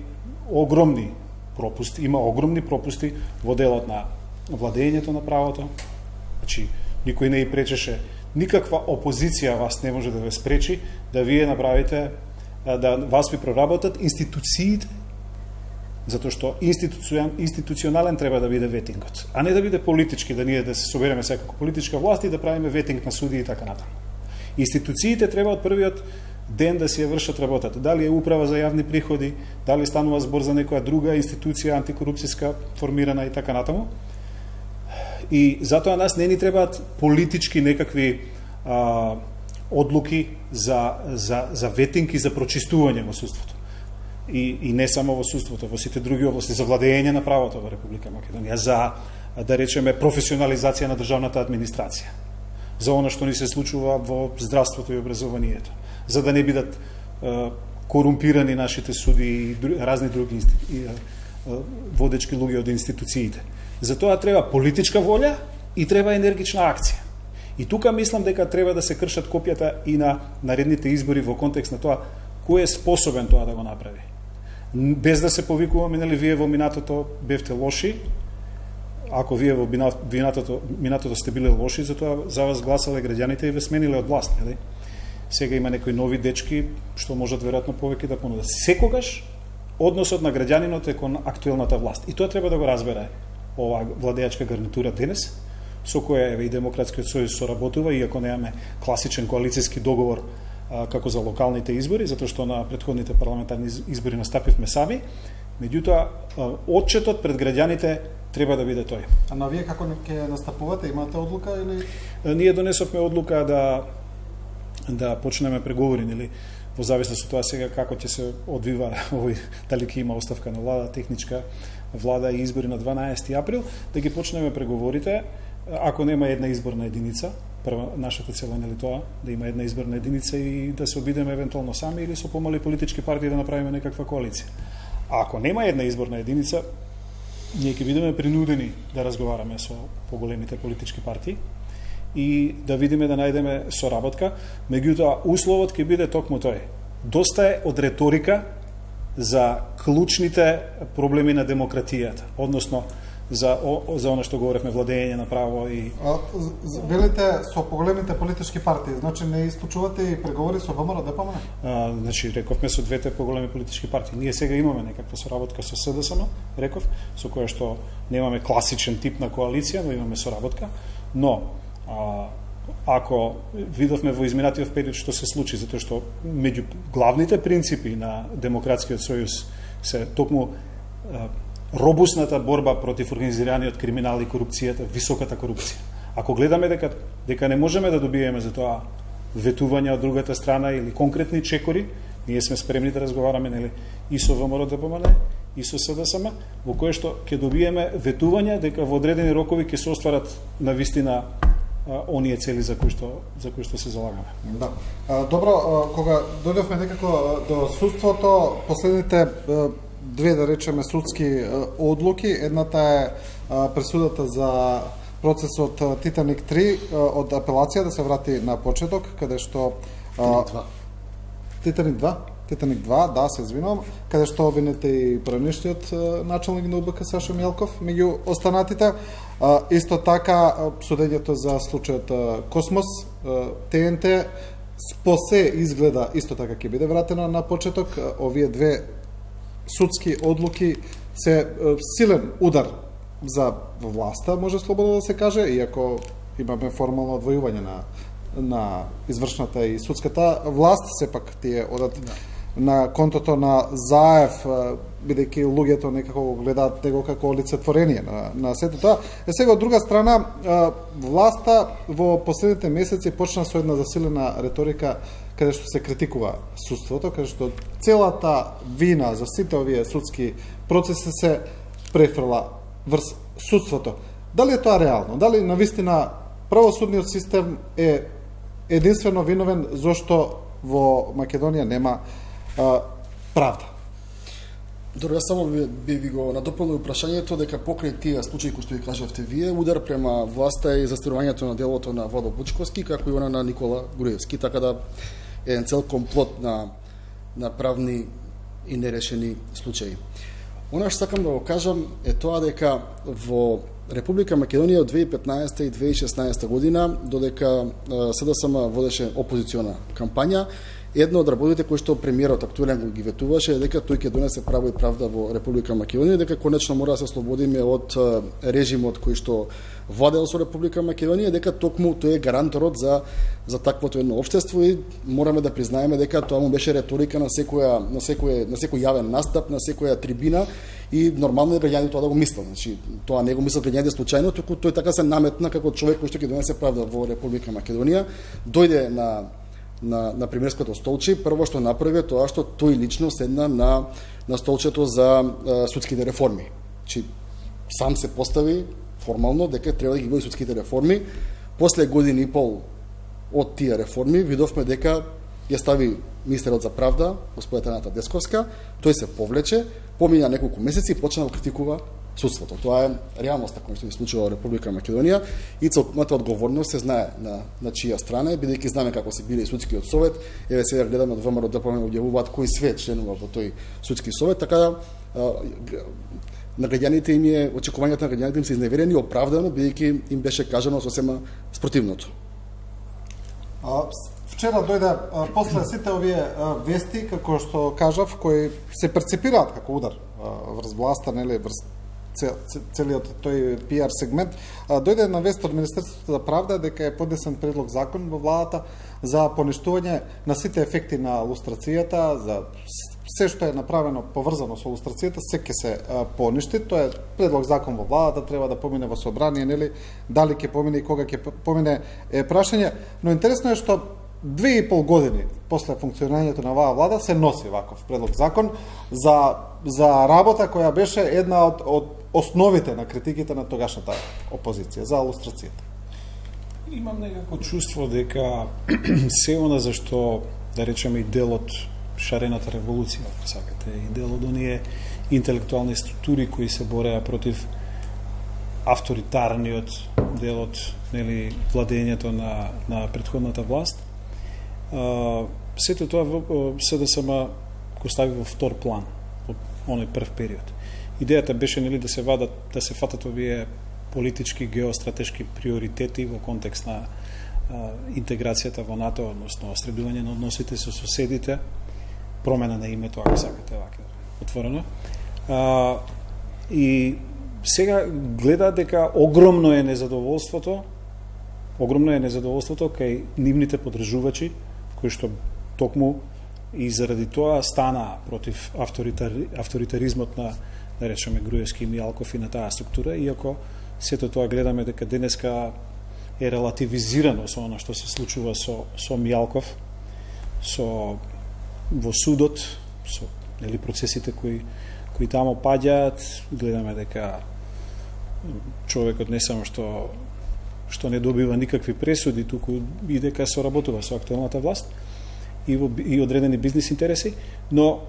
огромни пропусти, има огромни пропусти во делот на владењето на правото. Значи, никој не и пречеше, никаква опозиција вас не може да ве спречи да вие направите, да вас ви проработат институциите, затоа што институционален треба да биде ветингот, а не да биде политички, да ние да се собереме секако политичка власт и да правиме ветинг на суди и така натаму. Институциите треба од првиот ден да си ја вршат работата. Дали е управа за јавни приходи, дали станува збор за некоја друга институција антикорупцијска формирана и така натаму. И затоа нас не ни требаат политички некакви а, одлуки за, за, за ветинг и за прочистување во судството. И, и не само во судството, во сите други области, за владење на правото во Република Македонија, за, да речеме, професионализација на државната администрација, за она што ни се случува во здравството и образованието, за да не бидат е, корумпирани нашите суди и дру, разни други и, е, водечки луѓе од институциите. За тоа треба политичка волја и треба енергична акција. И тука мислам дека треба да се кршат копијата и на наредните избори во контекст на тоа кој е способен тоа да го направи. Без да се повикуваме, нели, вие во минатото бевте лоши, ако вие во минатото, минатото сте биле лоши, затоа за вас гласале граѓаните и ве смениле од власт, нели? Сега има некои нови дечки што можат веројатно повеќе да понудат. Секогаш односот на граѓанинот е кон актуелната власт. И тоа треба да го разбере оваа владеачка гарнитура денес, со која еве и Демократскиот сојуз соработува, иако немаме класичен коалициски договор како за локалните избори, затоа што на претходните парламентарни избори настапивме сами. Меѓутоа, отчетот пред граѓаните треба да биде тој. А на вие како ќе настапувате, имате одлука или? Ние донесовме одлука да да почнеме преговори, нели, во зависност од тоа сега како ќе се одвива овој, дали ќе има оставка на влада, техничка влада и избори на дванаесети април, да ги почнеме преговорите, ако нема една изборна единица. Прва нашата цел е нели тоа, да има една изборна единица и да се обидеме евентуално сами или со помали политички партии да направиме некаква коалиција. А ако нема една изборна единица, ние ќе бидеме принудени да разговараме со поголемите политички партии и да видиме да најдеме соработка, меѓутоа условот ќе биде токму тој. Доста е од реторика за клучните проблеми на демократијата, односно за о, за она што говоревме, владење на право и а, велите со поголемите политички партии, значи не исклучувате и преговори со ВМРО Д П М Н? А, значи рековме со двете поголеми политички партии. Ние сега имаме некаква соработка со С Д С М, реков, со која што немаме класичен тип на коалиција, но имаме соработка, но а, ако видовме во изминатиот период што се случи, затоа што меѓу главните принципи на Демократскиот сојуз се токму а, робусната борба против организираниот криминал и корупцијата, високата корупција. Ако гледаме дека дека не можеме да добиеме за тоа ветувања од другата страна или конкретни чекори, ние сме спремни да разговараме нели и со ВМРО Д П М Н и со С Д С М, во кое што ќе добиеме ветувања дека во одредени рокови ќе се остварат на вистина оние цели за кои што за кои што се залагаме. Да. А, добро, а, кога дојдовме некако до судството, последните а, две, да речеме, судски одлуки. Едната е пресудата за процесот Титаник три од апелација да се врати на почеток, каде што Титаник два, Титаник два, да, се извинувам, каде што обвинете и пранишниот началник на У Б К Сашо Мјелков меѓу останатите. Исто така судењето за случајот Космос, Т Н Т, спосе изгледа исто така ќе биде вратено на почеток. Овие две судски одлуки се силен удар за власта, може слободно да се каже, иако имаме формално одвојување на на извршната и судската власт, сепак тие одат да. на контото на Заев, бидејќи луѓето некако го гледаат него како олицетворение на, на сето тоа. Е сега, од друга страна, власта во последните месеци почна со една засилена реторика каде што се критикува судството, каде што целата вина за сите овие судски процеси се префрла врз судството. Дали е тоа реално? Дали навистина правосудниот систем е единствено виновен зошто во Македонија нема а, правда? Добро, јас само би, би, би го надополнил прашањето дека покрај тие случаи кои што ви кажавте вие, удар према власта и застирувањето на делото на Владо Бучковски, како и она на Никола Груевски, така да е еден цел комплот на, на правни и нерешени случаи. Она што сакам да го кажам е тоа дека во Република Македонија од две илјади и петнаесета и две илјади и шеснаесета година, додека С Д С М водеше опозициона кампања, едно од работите кои што премиерот актуелен ги ветуваше е дека тој ќе донесе право и правда во Република Македонија, дека конечно мора да се ослободиме од режимот кој што владел со Република Македонија, дека токму тој е гаранторот за за таквото едно општество и мораме да признаеме дека тоа му беше реторика на секоја на секој на секој јавен настап, на секоја трибина и нормално е граѓаните тоа да го мислат. Значи тоа не го мислат граѓаните случајно, туку тој така се наметна како човек кој што ќе донесе правда во Република Македонија, дојде на на на премиерското столче, прво што направи тоа што тој лично седна на на столчето за а, судските реформи. Чи сам се постави формално дека треба да ги води судските реформи. После година и пол од тие реформи видовме дека ја стави министерот за правда, господа Таната Десковска, тој се повлече, помина неколку месеци и почна да критикува судството. Тоа е реалноста која што се случува во Република Македонија и целокупната одговорност се знае на на чија страна е, бидејќи знаеме како се биде и судскиот совет. Еве сега гледаме од ВМРО Д П М Н објавуваат кој све членува во тој судски совет, така да на граѓаните им е очекувањата на граѓаните им се изневерени оправдано, бидејќи им беше кажано сосема спротивното. А, вчера дојде а, после сите овие а, вести, како што кажав, кои се перцепираат како удар а, врз власта, нели, врз цел, целиот тој пиар сегмент. Дојде на вест од Министерството за правда дека е поднесен предлог закон во владата за поништување на сите ефекти на лустрацијата, за се што е направено поврзано со лустрацијата, се ќе се поништи. Тоа е предлог закон во владата, треба да помине во собрание, нели? Дали ќе помине и кога ќе помине е прашање, но интересно е што две и пол години после функционирањето на оваа влада се носи ваков предлог закон за за работа која беше една од од основите на критиките на тогашната опозиција за лустрацијата. Имам некако чувство дека се она зашто, да речеме, и дел од шарената револуција, ако сакате, и дел од оние интелектуални структури кои се бореа против авторитарниот дел од, нели, владењето на на претходната власт. Uh, сето тоа СДСМ го стави во втор план во оној прв период. Идејата беше, нели, да се вадат, да се фатат овие политички геостратешки приоритети во контекст на uh, интеграцијата во НАТО, односно средување на односите со соседите, промена на името, ако сакате вака отворено. Uh, и сега гледа дека огромно е незадоволството, огромно е незадоволството кај нивните подржувачи, кои што токму и заради тоа стана против авторитар, авторитаризмот на, да речеме, Груевски и Мијалков и на таа структура, иако сето тоа гледаме дека денеска е релативизирано со она што се случува со, со Мијалков, со во судот, со, нели, процесите кои, кои тамо паѓаат, гледаме дека човекот не само што што не добива никакви пресуди, туку и дека соработува со актуелната власт и, во, и одредени бизнис интереси, но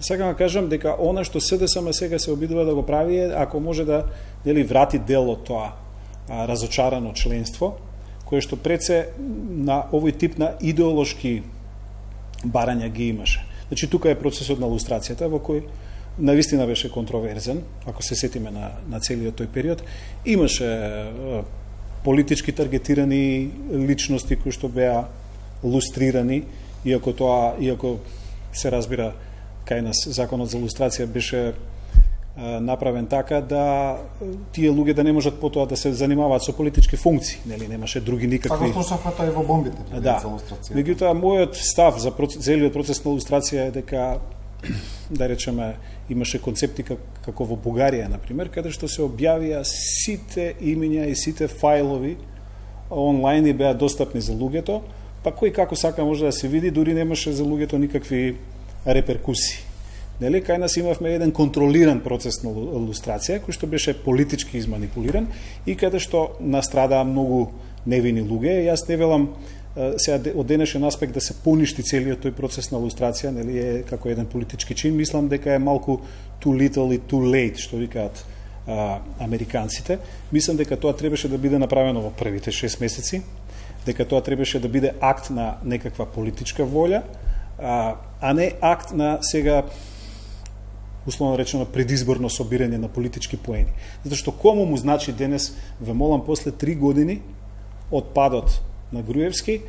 сакам да кажам дека она што СДСМ сега се обидува да го прави е, ако може да, нели, врати дел од тоа а, разочарано членство, кое што пред се на овој тип на идеолошки барања ги имаше. Значи, тука е процесот на лустрацијата, во кој навистина беше контроверзен, ако се сетиме на, на целиот тој период. Имаше а, политички таргетирани личности кои што беа лустрирани, иако тоа, иако се разбира кај нас законот за лустрација беше а, направен така да тие луѓе да не можат потоа да се занимаваат со политички функции, нели, немаше други никакви. Така слушавме тоа и во бомбите, да, за лустрација. Меѓутоа, мојот став за процес, целиот процес на лустрација е дека, да речеме, имаше концепти како во Бугарија, например, каде што се објавија сите имиња и сите фајлови онлайн и беа достапни за луѓето, па кој како сака може да се види, дури немаше за луѓето никакви реперкусии. Нели, кај нас имавме еден контролиран процес на лустрација, кој што беше политички изманипулиран и каде што настрадаа многу невини луѓе. Јас не велам сега од денешен аспект да се поништи целиот тој процес на лустрација, нели, е како еден политички чин. Мислам дека е малку too little и too late, што викаат а, американците. Мислам дека тоа требаше да биде направено во првите шест месеци, дека тоа требаше да биде акт на некаква политичка волја, а, а не акт на сега условно речено предизборно собирање на политички поени. Затоа што кому му значи денес, ве молам, после три години од падот на Груевски,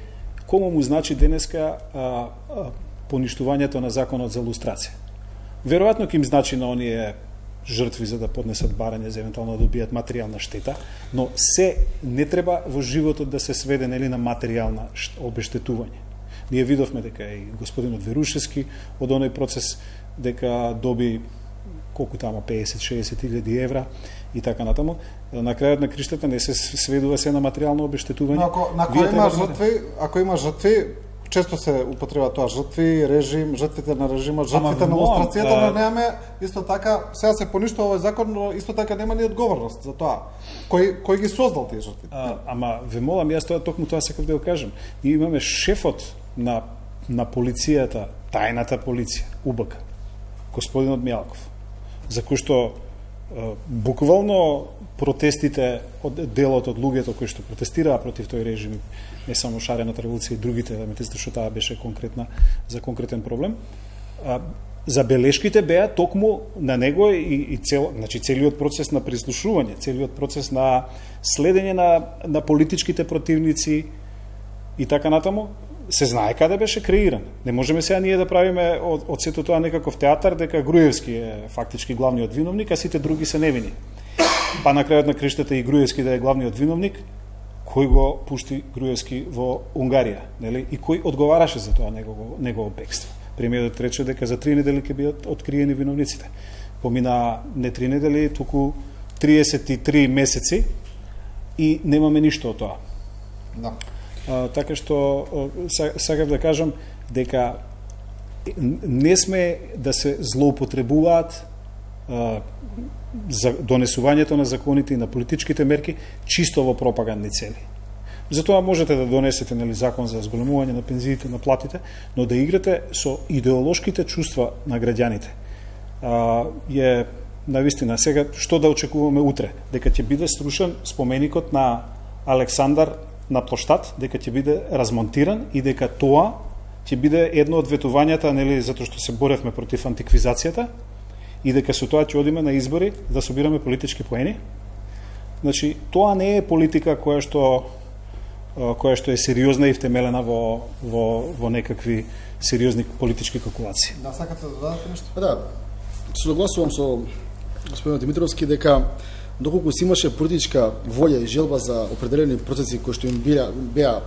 кому му значи денеска а, а, поништувањето на законот за лустрација. Веројатно ќе им значи на оние жртви за да поднесат барање, за евентуално да добијат материјална штета, но се не треба во животот да се сведе, нели, на материјална обештетување. Ние видовме дека и господинот Верушевски од оној процес дека доби колку тамо песет-шеесет илјади евра и така натаму. На крајот на криштата не се сведува се на материјално обештетување. Но ако, ако има жртви, ако има жртви, често се употреба тоа жртви, режим, жртвите на режимот, жртвите на лустрацијата, но немаме исто така, сега се поништува овој закон, но исто така нема ни одговорност за тоа. Кој кој ги создал тие жртви? А, ама ве молам, јас тоа токму тоа сакав да го кажам. Ние имаме шефот на на полицијата, тајната полиција, УБК, господинот Мијалков, за кој што буквално протестите од делот од луѓето кои што протестираа против тој режим, не само шарената револуција и другите елементи, што таа беше конкретна за конкретен проблем, а, забелешките беа токму на него и, и цел, значи целиот процес на прислушување, целиот процес на следење на, на политичките противници и така натаму, се знае каде беше креиран. Не можеме сега ние да правиме од, од сето тоа некаков театар дека Груевски е фактички главниот виновник, а сите други се невини. Па на крајот на криштата и Груевски да е главниот виновник, кој го пушти Груевски во Унгарија, нели? И кој одговараше за тоа негово негово бегство. Премиерот рече дека за три недели ќе бидат откриени виновниците. Помина не три недели, туку триесет и три месеци и немаме ништо од тоа. Да. А, така што сакав да кажам дека не сме да се злоупотребуваат а, за донесувањето на законите и на политичките мерки чисто во пропагандни цели. Затоа можете да донесете, нели, закон за зголемување на пензиите, на платите, но да играте со идеолошките чувства на граѓаните. А, е навистина сега што да очекуваме утре, дека ќе биде струшен споменикот на Александар на плоштад, дека ќе биде размонтиран и дека тоа ќе биде едно од ветувањата, нели, затоа што се боревме против антиквизацијата и дека со тоа ќе одиме на избори да собираме политички поени. Значи, тоа не е политика која што која што е сериозна и втемелена во во во некакви сериозни политички калкулации. Да, сакате да додадете нешто? Да. Согласувам со господин Димитровски дека доколку си имаше политичка волја и желба за определени процеси кои што им беа беа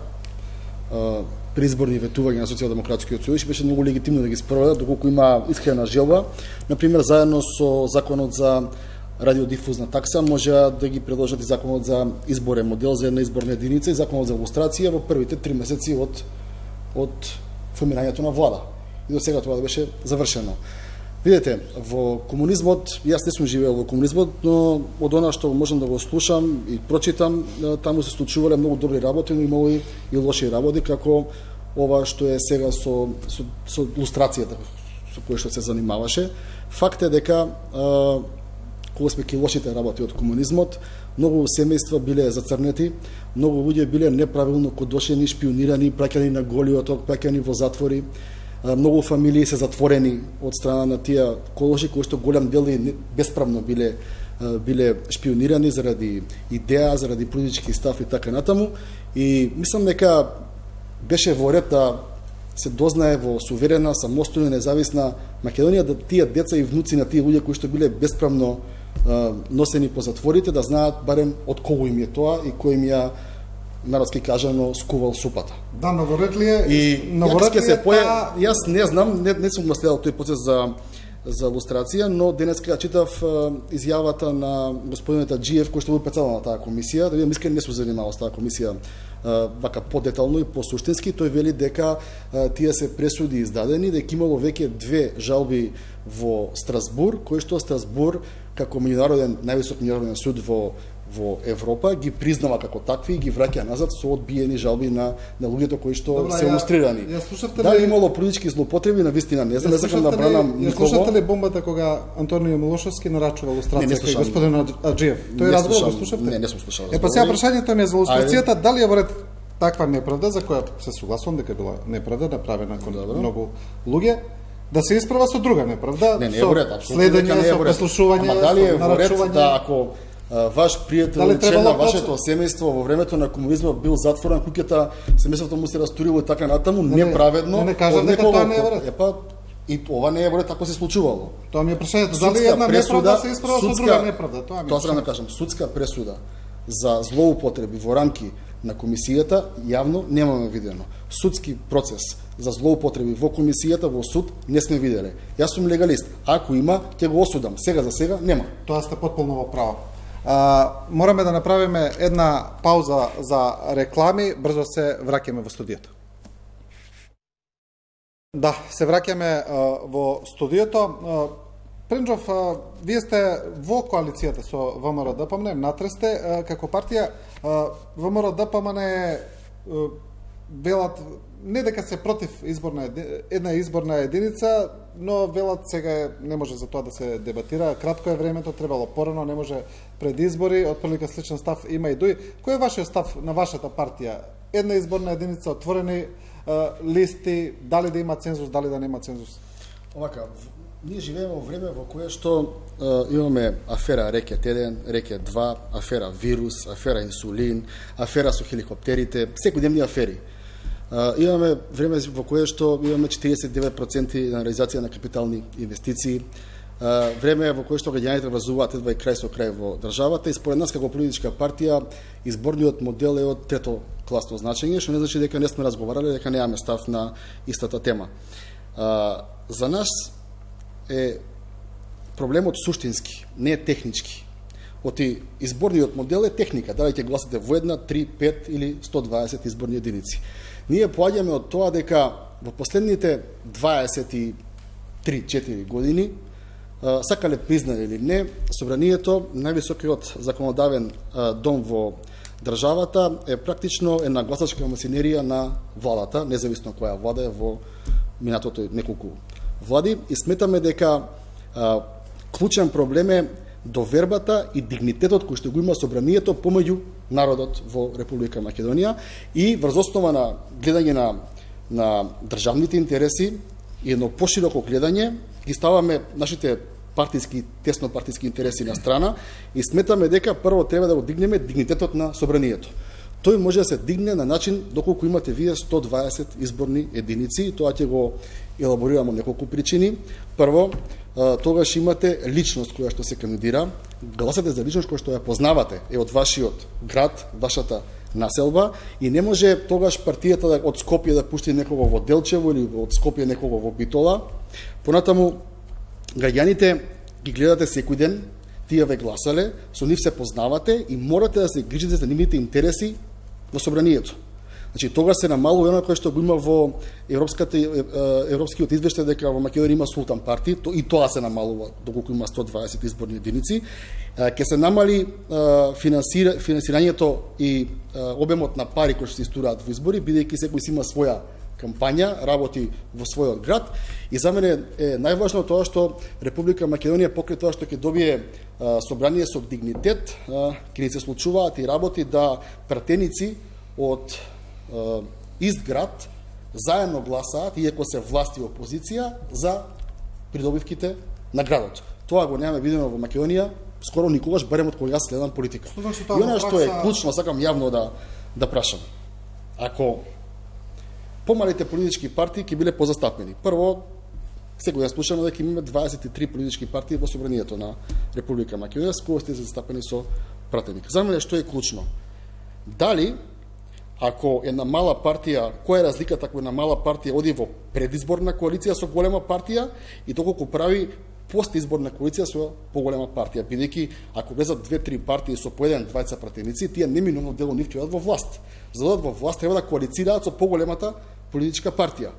преизборни ветувања на Социјалдемократскиот сојуз, беше многу легитимно да ги спроведат доколку има искрена желба. Например, заедно со законот за радиодифузна такса може да ги предложат и законот за изборен модел за една изборна единица и законот за илустрација во првите три месеци од од формирањето на влада. И до сега тоа да беше завршено. Видете, во комунизмот, јас не сум живеел во комунизмот, но од она што можам да го слушам и прочитам, таму се случувале многу добри работи, но имало и, и лоши работи, како ова што е сега со, со, со илустрацијата со која што се занимаваше. Факт е дека а, кога сме ки лошите работи од комунизмот, многу семејства биле зацрнети, многу луѓе биле неправилно кодошени, шпионирани, праќани на голиот ток, праќани во затвори. Многу фамилии се затворени од страна на тие колоши кои што голем дел и бесправно биле биле шпионирани заради идеја, заради политички став и така натаму. И мислам дека беше во ред да се дознае во суверена, самостојна, независна Македонија да тие деца и внуци на тие луѓе кои што биле бесправно носени по затворите да знаат барем од кого им е тоа и кој им ја народски кажано скувал супата. Да, новоред ли е? И новоред ли се е поја, та... јас не знам, не, не сум наследал тој процес за за илустрација, но денеска читав изјавата на господинот Таџиев кој што бил председател на таа комисија, да видам искрено не сум занимавал со таа комисија вака подетално и посуштински. Тој вели дека тие се пресуди издадени, дека имало веќе две жалби во Страсбур, кои што Страсбур како меѓународен највисок меѓународен суд во во Европа ги признава како такви и ги враќа назад со одбиени жалби на на луѓето кои што Добра, се илустрирани. Ја, ја Дали ли... имало политички злоупотреби, навистина не знам, не сакам да бранам никого. Ја слушате ли бомбата кога Антонио Милошовски нарачува илустрација кај господин Аџиев? Тој разговор го слушавте? Не, не сум слушал. Е па сега прашањето ми е за илустрацијата, дали е во ред таква неправда за која се согласувам дека била неправда направена кон многу луѓе, да се исправа со друга неправда, не, не, со ред, следење, со преслушување, ама дали е со во ред нарачување. да ако ваш пријател, член на вашето семејство во времето на комунизмот бил затворен, куќата, семејството му се растурило и така натаму, не, неправедно. Не, не кажам дека тоа не е во ред. Епа, и ова не е во ред, така се случувало. Тоа ми е прашањето, дали една неправда се исправа со друга неправда, тоа ми е. Тоа сакам да кажам, судска пресуда за злоупотреби во рамки на комисијата јавно немаме видено. Судски процес за злоупотреби во комисијата во суд не сме виделе. Јас сум легалист. Ако има, ќе го осудам. Сега за сега нема. Тоа сте потполно во право. А, мораме да направиме една пауза за реклами, брзо се враќаме во студиото. Да, се враќаме а, во студиото. А, Пренџов, а, вие сте во коалицијата со ВМРО-ДПМН, натре сте а, како партија. ВМРО-ДПМН е велат не дека се против изборна една изборна единица, но велат сега не може за тоа да се дебатира. Кратко е времето, требало порано, не може пред избори, отприлика сличен став има и дуи. Кој е вашиот став на вашата партија? Една изборна единица, отворени а, листи, дали да има цензус, дали да нема цензус? Овака, ние живееме во време во кое што е, имаме афера Рекет еден, Рекет два, афера вирус, афера инсулин, афера со хеликоптерите, секојдневни афери. Имаме време во кое што имаме четириесет и девет проценти на реализација на капитални инвестиции. Време во кое што граѓаните врзуваат едва и крај со крај во државата и според нас како политичка партија изборниот модел е од трето класно значење, што не значи дека не сме разговарале, дека немаме став на истата тема. За нас е проблемот суштински, не е технички. Оти изборниот модел е техника, дали ќе гласате во една, три, пет или сто дваесет изборни единици. Ние поаѓаме од тоа дека во последните дваесет и три четири години, сакале признали или не, собранието, највисокиот законодавен дом во државата, е практично една гласачка масинерија на владата, независно која влада е во минатото неколку влади, и сметаме дека а, клучен проблем е довербата и дигнитетот кој што го има собранието помеѓу народот во Република Македонија и врз основа на гледање на, на државните интереси и едно пошироко гледање ги ставаме нашите партиски, тесно партиски интереси на страна и сметаме дека прво треба да го дигнеме дигнитетот на собранието. Тој може да се дигне на начин доколку имате вие сто дваесет изборни единици и тоа ќе го елаборираме неколку причини. Прво, тогаш имате личност која што се кандидира, гласате за личност која што ја познавате, е од вашиот град, вашата населба и не може тогаш партијата да, од Скопје да пушти некого во Делчево или од Скопје некого во Битола. Понатаму, граѓаните ги гледате секој ден, тие ве гласале, со нив се познавате и морате да се грижите за нивните интереси во собранието. Значи, тогаш се намалува оно кое што го има во европската европскиот извештај дека во Македонија има султан парти, то и тоа се намалува доколку има сто дваесет изборни единици. Ќе се намали финансира, финансирањето и обемот на пари кои што се истураат во избори, бидејќи секој си има своја кампања, работи во својот град и за мене е најважно тоа што Република Македонија покрај тоа што ќе добие а, собрание со дигнитет, а, ќе ни се случуваат и работи да пратеници од а, ист град заедно гласаат, иако се власт и опозиција, за придобивките на градот. Тоа го немаме видено во Македонија скоро никогаш, барем од кога јас следам политика. И она што е клучно, сакам јавно да да прашам. Ако помалите политички партии ќе биле позастапени. Прво, секој ја слушаме дека имаме дваесет и три политички партии во собранието на Република Македонија, с кои сте застапени со пратеник. За мене што е клучно? Дали, ако една мала партија, која е разликата ако една мала партија оди во предизборна коалиција со голема партија и доколку прави постизборна коалиција со поголема партија, бидејќи ако влезат две-три партии со по еден двајца пратеници, тие неминуно дело нив ќе одат во власт. За да одат во власт треба да коалицираат со поголемата политичка партија.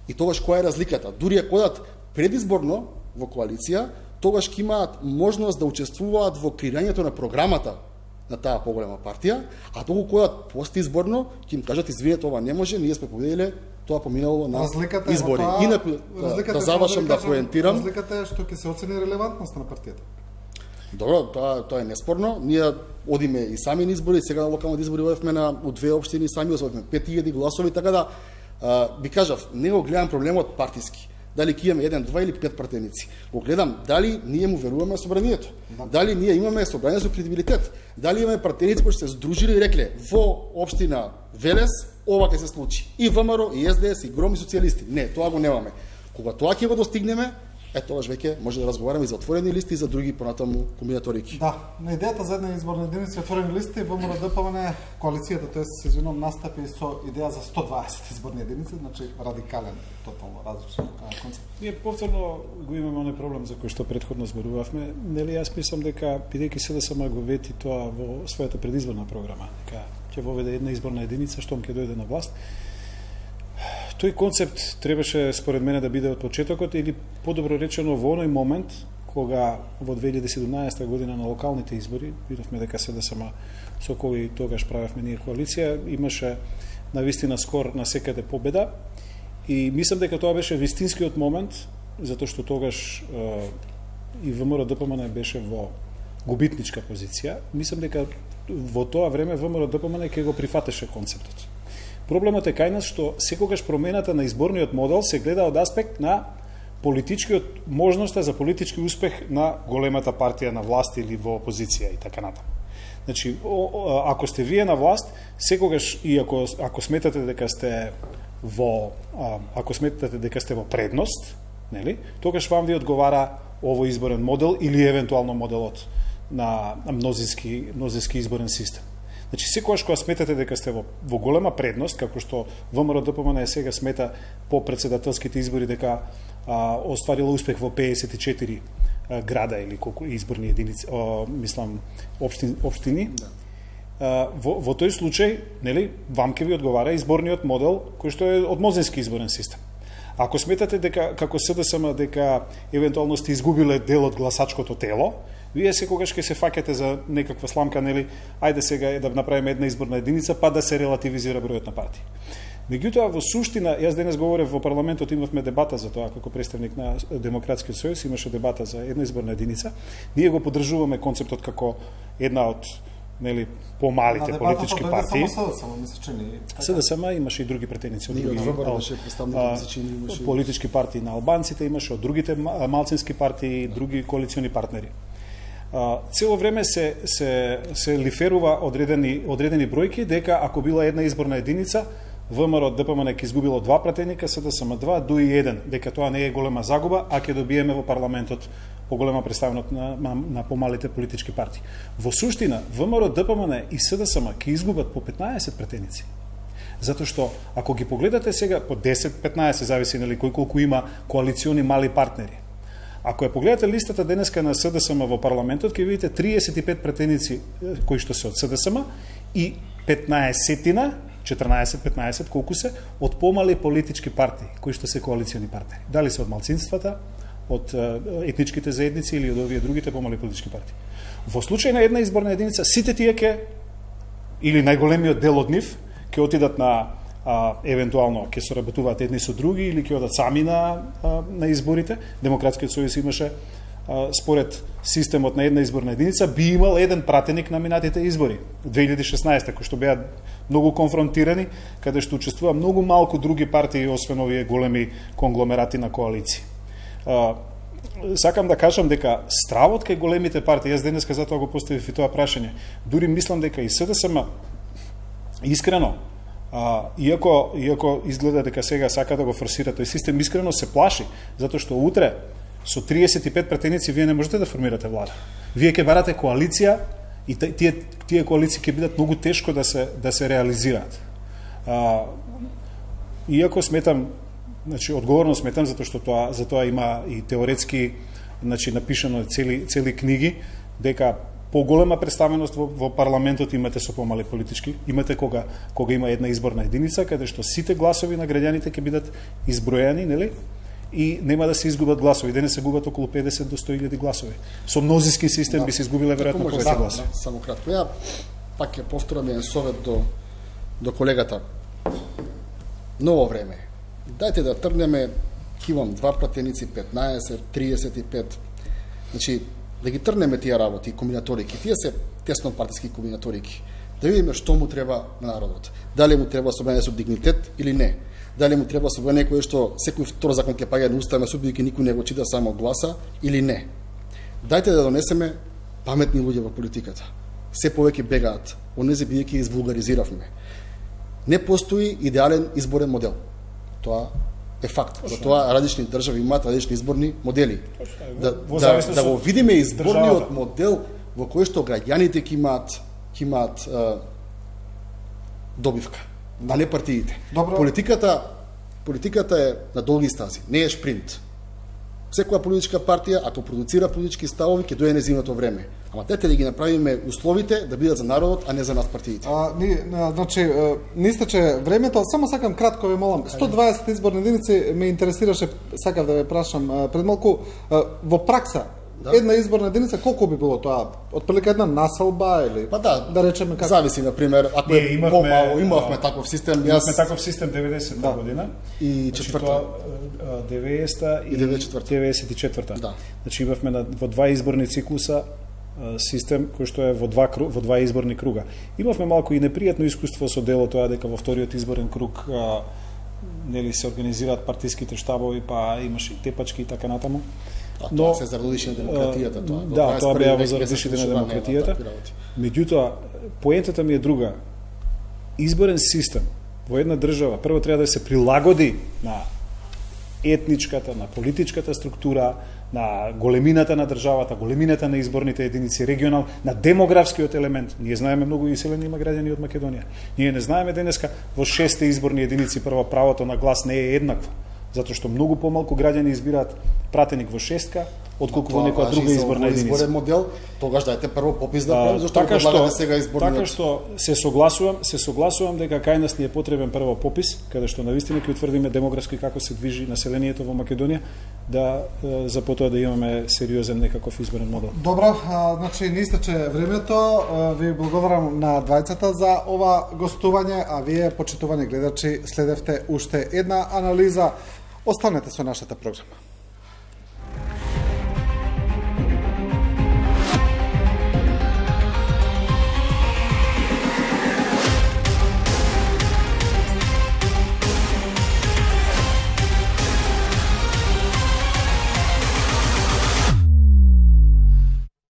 И тогаш која е разликата? Дури ако одат предизборно во коалиција, тогаш ќе имаат можност да учествуваат во креирањето на програмата на таа поголема партија, а доколку одат постизборно, ќе им кажат извинете, ова не може, ние сме победиле, тоа поминало на разликата избори. Тоа, Инаку да завршам да поентирам. Разликата е што ќе се оцени релевантноста на партијата. Добро, тоа тоа е неспорно. Ние одиме и сами на избори, сега на локални избори одевме на у две општини, сами освоивме пет илјади гласови, така да а, би кажав, не го гледам проблемот партиски. Дали ќе имаме еден, два или пет пратеници. Го гледам дали ние му веруваме собранието. Да. Дали ние имаме собрание со кредибилитет. Дали имаме пратеници кои се здружили и рекле во општина Велес ова ќе се случи. И ВМРО, и СДС, и Гром, и социјалисти. Не, тоа го немаме. Кога тоа ќе го достигнеме, е тогаш веќе може да разговараме и за отворени листи и за други понатаму комбинаторики. Да, на идејата за една изборна единица отворени листи ВМРО ДПМН коалицијата, тоа се извинувам, настапи со идеја за сто дваесет изборни единици, значи радикален, тотално различен концепт. Ние повторно го имаме оној проблем за кој што претходно зборувавме. Нели јас мислам дека бидејќи СДСМ го вети тоа во својата предизборна програма, дека ќе воведе една изборна единица штом ќе дојде на власт. Тој концепт требаше според мене да биде од почетокот или подобро речено во оној момент кога во две илјади и седумнаесета година на локалните избори видовме дека СДСМ со кој тогаш правевме ние коалиција имаше навистина скор на секаде победа и мислам дека тоа беше вистинскиот момент затоа што тогаш е, и ВМРО ДПМН беше во губитничка позиција. Мислам дека во тоа време ВМРО ДПМН ќе го прифатеше концептот. Проблемот е кај нас што секогаш промената на изборниот модел се гледа од аспект на политичкиот можноста за политички успех на големата партија на власт или во опозиција и така натаму. Значи, ако сте вие на власт, секогаш и ако ако сметате дека сте во ако сметате дека сте во предност, нели? Тогаш вам ви одговара овој изборен модел или евентуално моделот на мнозински мнозински изборен систем. Значи, секогаш кога сметате дека сте во, во голема предност, како што ВМРО-ДПМН сега смета по председателските избори дека а, остварила успех во педесет и четири а, града или колку изборни единици, а, мислам, општини, општини. Да. А, во, во тој случај, нели, вам ке ви одговара изборниот модел кој што е од мнозински изборен систем. Ако сметате дека како СДСМ дека евентуално сте изгубиле дел од гласачкото тело, вие секогаш ќе се фаќате за некаква сламка, нели, ајде сега да направиме една изборна единица, па да се релативизира бројот на партии. Меѓутоа, во суштина, јас денес говорев во парламентот, имавме дебата за тоа, како представник на Демократскиот сојуз, имаше дебата за една изборна единица. Ние го поддржуваме концептот како една од, нели, помалите на политички партии. СДСМ имаше и други претеници од други политички партии на албанците, имаше од другите малцински партии, други коалициони партнери. Цело време се се се лиферува одредени одредени бројки дека ако била една изборна единица, ВМРО-ДПМН ќе изгубило два пратеника, СДСМ два, ДУИ еден, дека тоа не е голема загуба, а ќе добиеме во парламентот поголема представеност на, на, на помалите политички партии. Во суштина, ВМРО-ДПМН и СДСМ ќе изгубат по петнаесет пратеници. Затоа што ако ги погледате сега по десет-петнаесет, зависи нели кој колку има коалициони мали партнери. Ако ја погледате листата денеска на СДСМ во парламентот, ќе видите триесет и пет пратеници кои што се од СДСМ и петнаесетина, четрнаесет-петнаесет колку се од помали политички партии кои што се коалициони партнери. Дали се од малцинствата, од етничките заедници или од овие другите помали политички партии. Во случај на една изборна единица, сите тие ке или најголемиот дел од нив ќе отидат на а, евентуално ќе соработуваат едни со други или ќе одат сами на а, на изборите. Демократскиот сојуз имаше а, според системот на една изборна единица би имал еден пратеник на минатите избори две илјади и шеснаесета, кои што беа многу конфронтирани, каде што учествува многу малку други партии освен овие големи конгломерати на коалиции. А, сакам да кажам дека стравот кај големите партии, јас денеска затоа го поставив и тоа прашање, дури мислам дека и СДСМ искрено, а, иако, иако изгледа дека сега сака да го форсира тој систем, искрено се плаши, затоа што утре со триесет и пет пратеници вие не можете да формирате влада. Вие ќе барате коалиција и тие, тие коалиции ќе бидат многу тешко да се, да се реализираат. А, иако сметам, значи одговорно сметам затоа што тоа за тоа има и теоретски, значи напишано цели цели книги дека поголема представеност во, во парламентот имате со помали политички, имате кога кога има една изборна единица каде што сите гласови на граѓаните ќе бидат изброени, нели? И нема да се изгубат гласови. Денес се губат околу педесет до сто илјади гласови. Со мнозински систем да, би се изгубиле веројатно повеќе гласови. Да, само кратко. Ја пак ќе повторам еден совет до до колегата. Ново време. Дајте да тргнеме, кивам два пратеници, петнаесет, триесет и пет. Значи, да ги тргнеме тие работи, комбинаторики. Тие се тесно партиски комбинаторики. Да видиме што му треба на народот. Дали му треба собрание со дигнитет или не. Дали му треба собрание кое што секој втор закон ќе паѓа на уставна суд, бидејќи никој не го чита, само гласа или не. Дајте да донесеме паметни луѓе во политиката. Се повеќе бегаат, онези бидејќи извулгаризиравме. Не постои идеален изборен модел. Тоа е факт. За тоа различни држави имаат различни изборни модели. Да, да, да го видиме изборниот модел во кој што граѓаните ќе имаат ќе имаат а, добивка, да. А не партиите. Добро. Политиката политиката е на долги стази, не е шпринт. Секоја политичка партија, ако продуцира политички ставови, ќе дојде незиното време. Ама тете да ги направиме условите да бидат за народот, а не за нас партиите. А, ни, значи, не истече времето, само сакам кратко ве молам. сто дваесет изборни единици ме интересираше, сакав да ве прашам пред малку, во пракса, да. Една изборна единица колку би било тоа? Отприлика една населба или па да, да речеме како? Зависи, на пример, ако е имавме, помало, имавме таков систем, имавме таков систем деветдесета да. година и четврта, деветдесета и деветдесет и четврта. Да. Значи имавме на, во два изборни циклуса систем кој што е во два во два изборни круга. Имавме малку и непријатно искуство со дело тоа дека во вториот изборен круг а, нели се организираат партиските штабови, па имаше и тепачки и така натаму. А но тоа се зародише на демократијата, тоа. Да, тоа беа во зародишите на демократијата. Меѓутоа, поентата ми е друга. Изборен систем во една држава прво треба да се прилагоди на етничката, на политичката структура, на големината на државата, големината на изборните единици, регионал, на демографскиот елемент. Ние знаеме многу иселени има граѓани од Македонија. Ние не знаеме денеска во шесте изборни единици прво правото на глас не е еднакво, затоа што многу помалку граѓани избираат пратеник во шестка отколку во некоја друга изборна единица. Изборен модел, тогаш дајте прво попис да правим, зашто така што предлагате сега изборниот. Така што се согласувам, се согласувам дека кај нас ни е потребен прво попис, каде што навистина ќе утврдиме демографски како се движи населението во Македонија, да за потоа да имаме сериозен некаков изборен модел. Добро, а, значи не истече времето. Ви благодарам на двајцата за ова гостување, а вие, почитувани гледачи, следевте уште една анализа. Останете со нашата програма.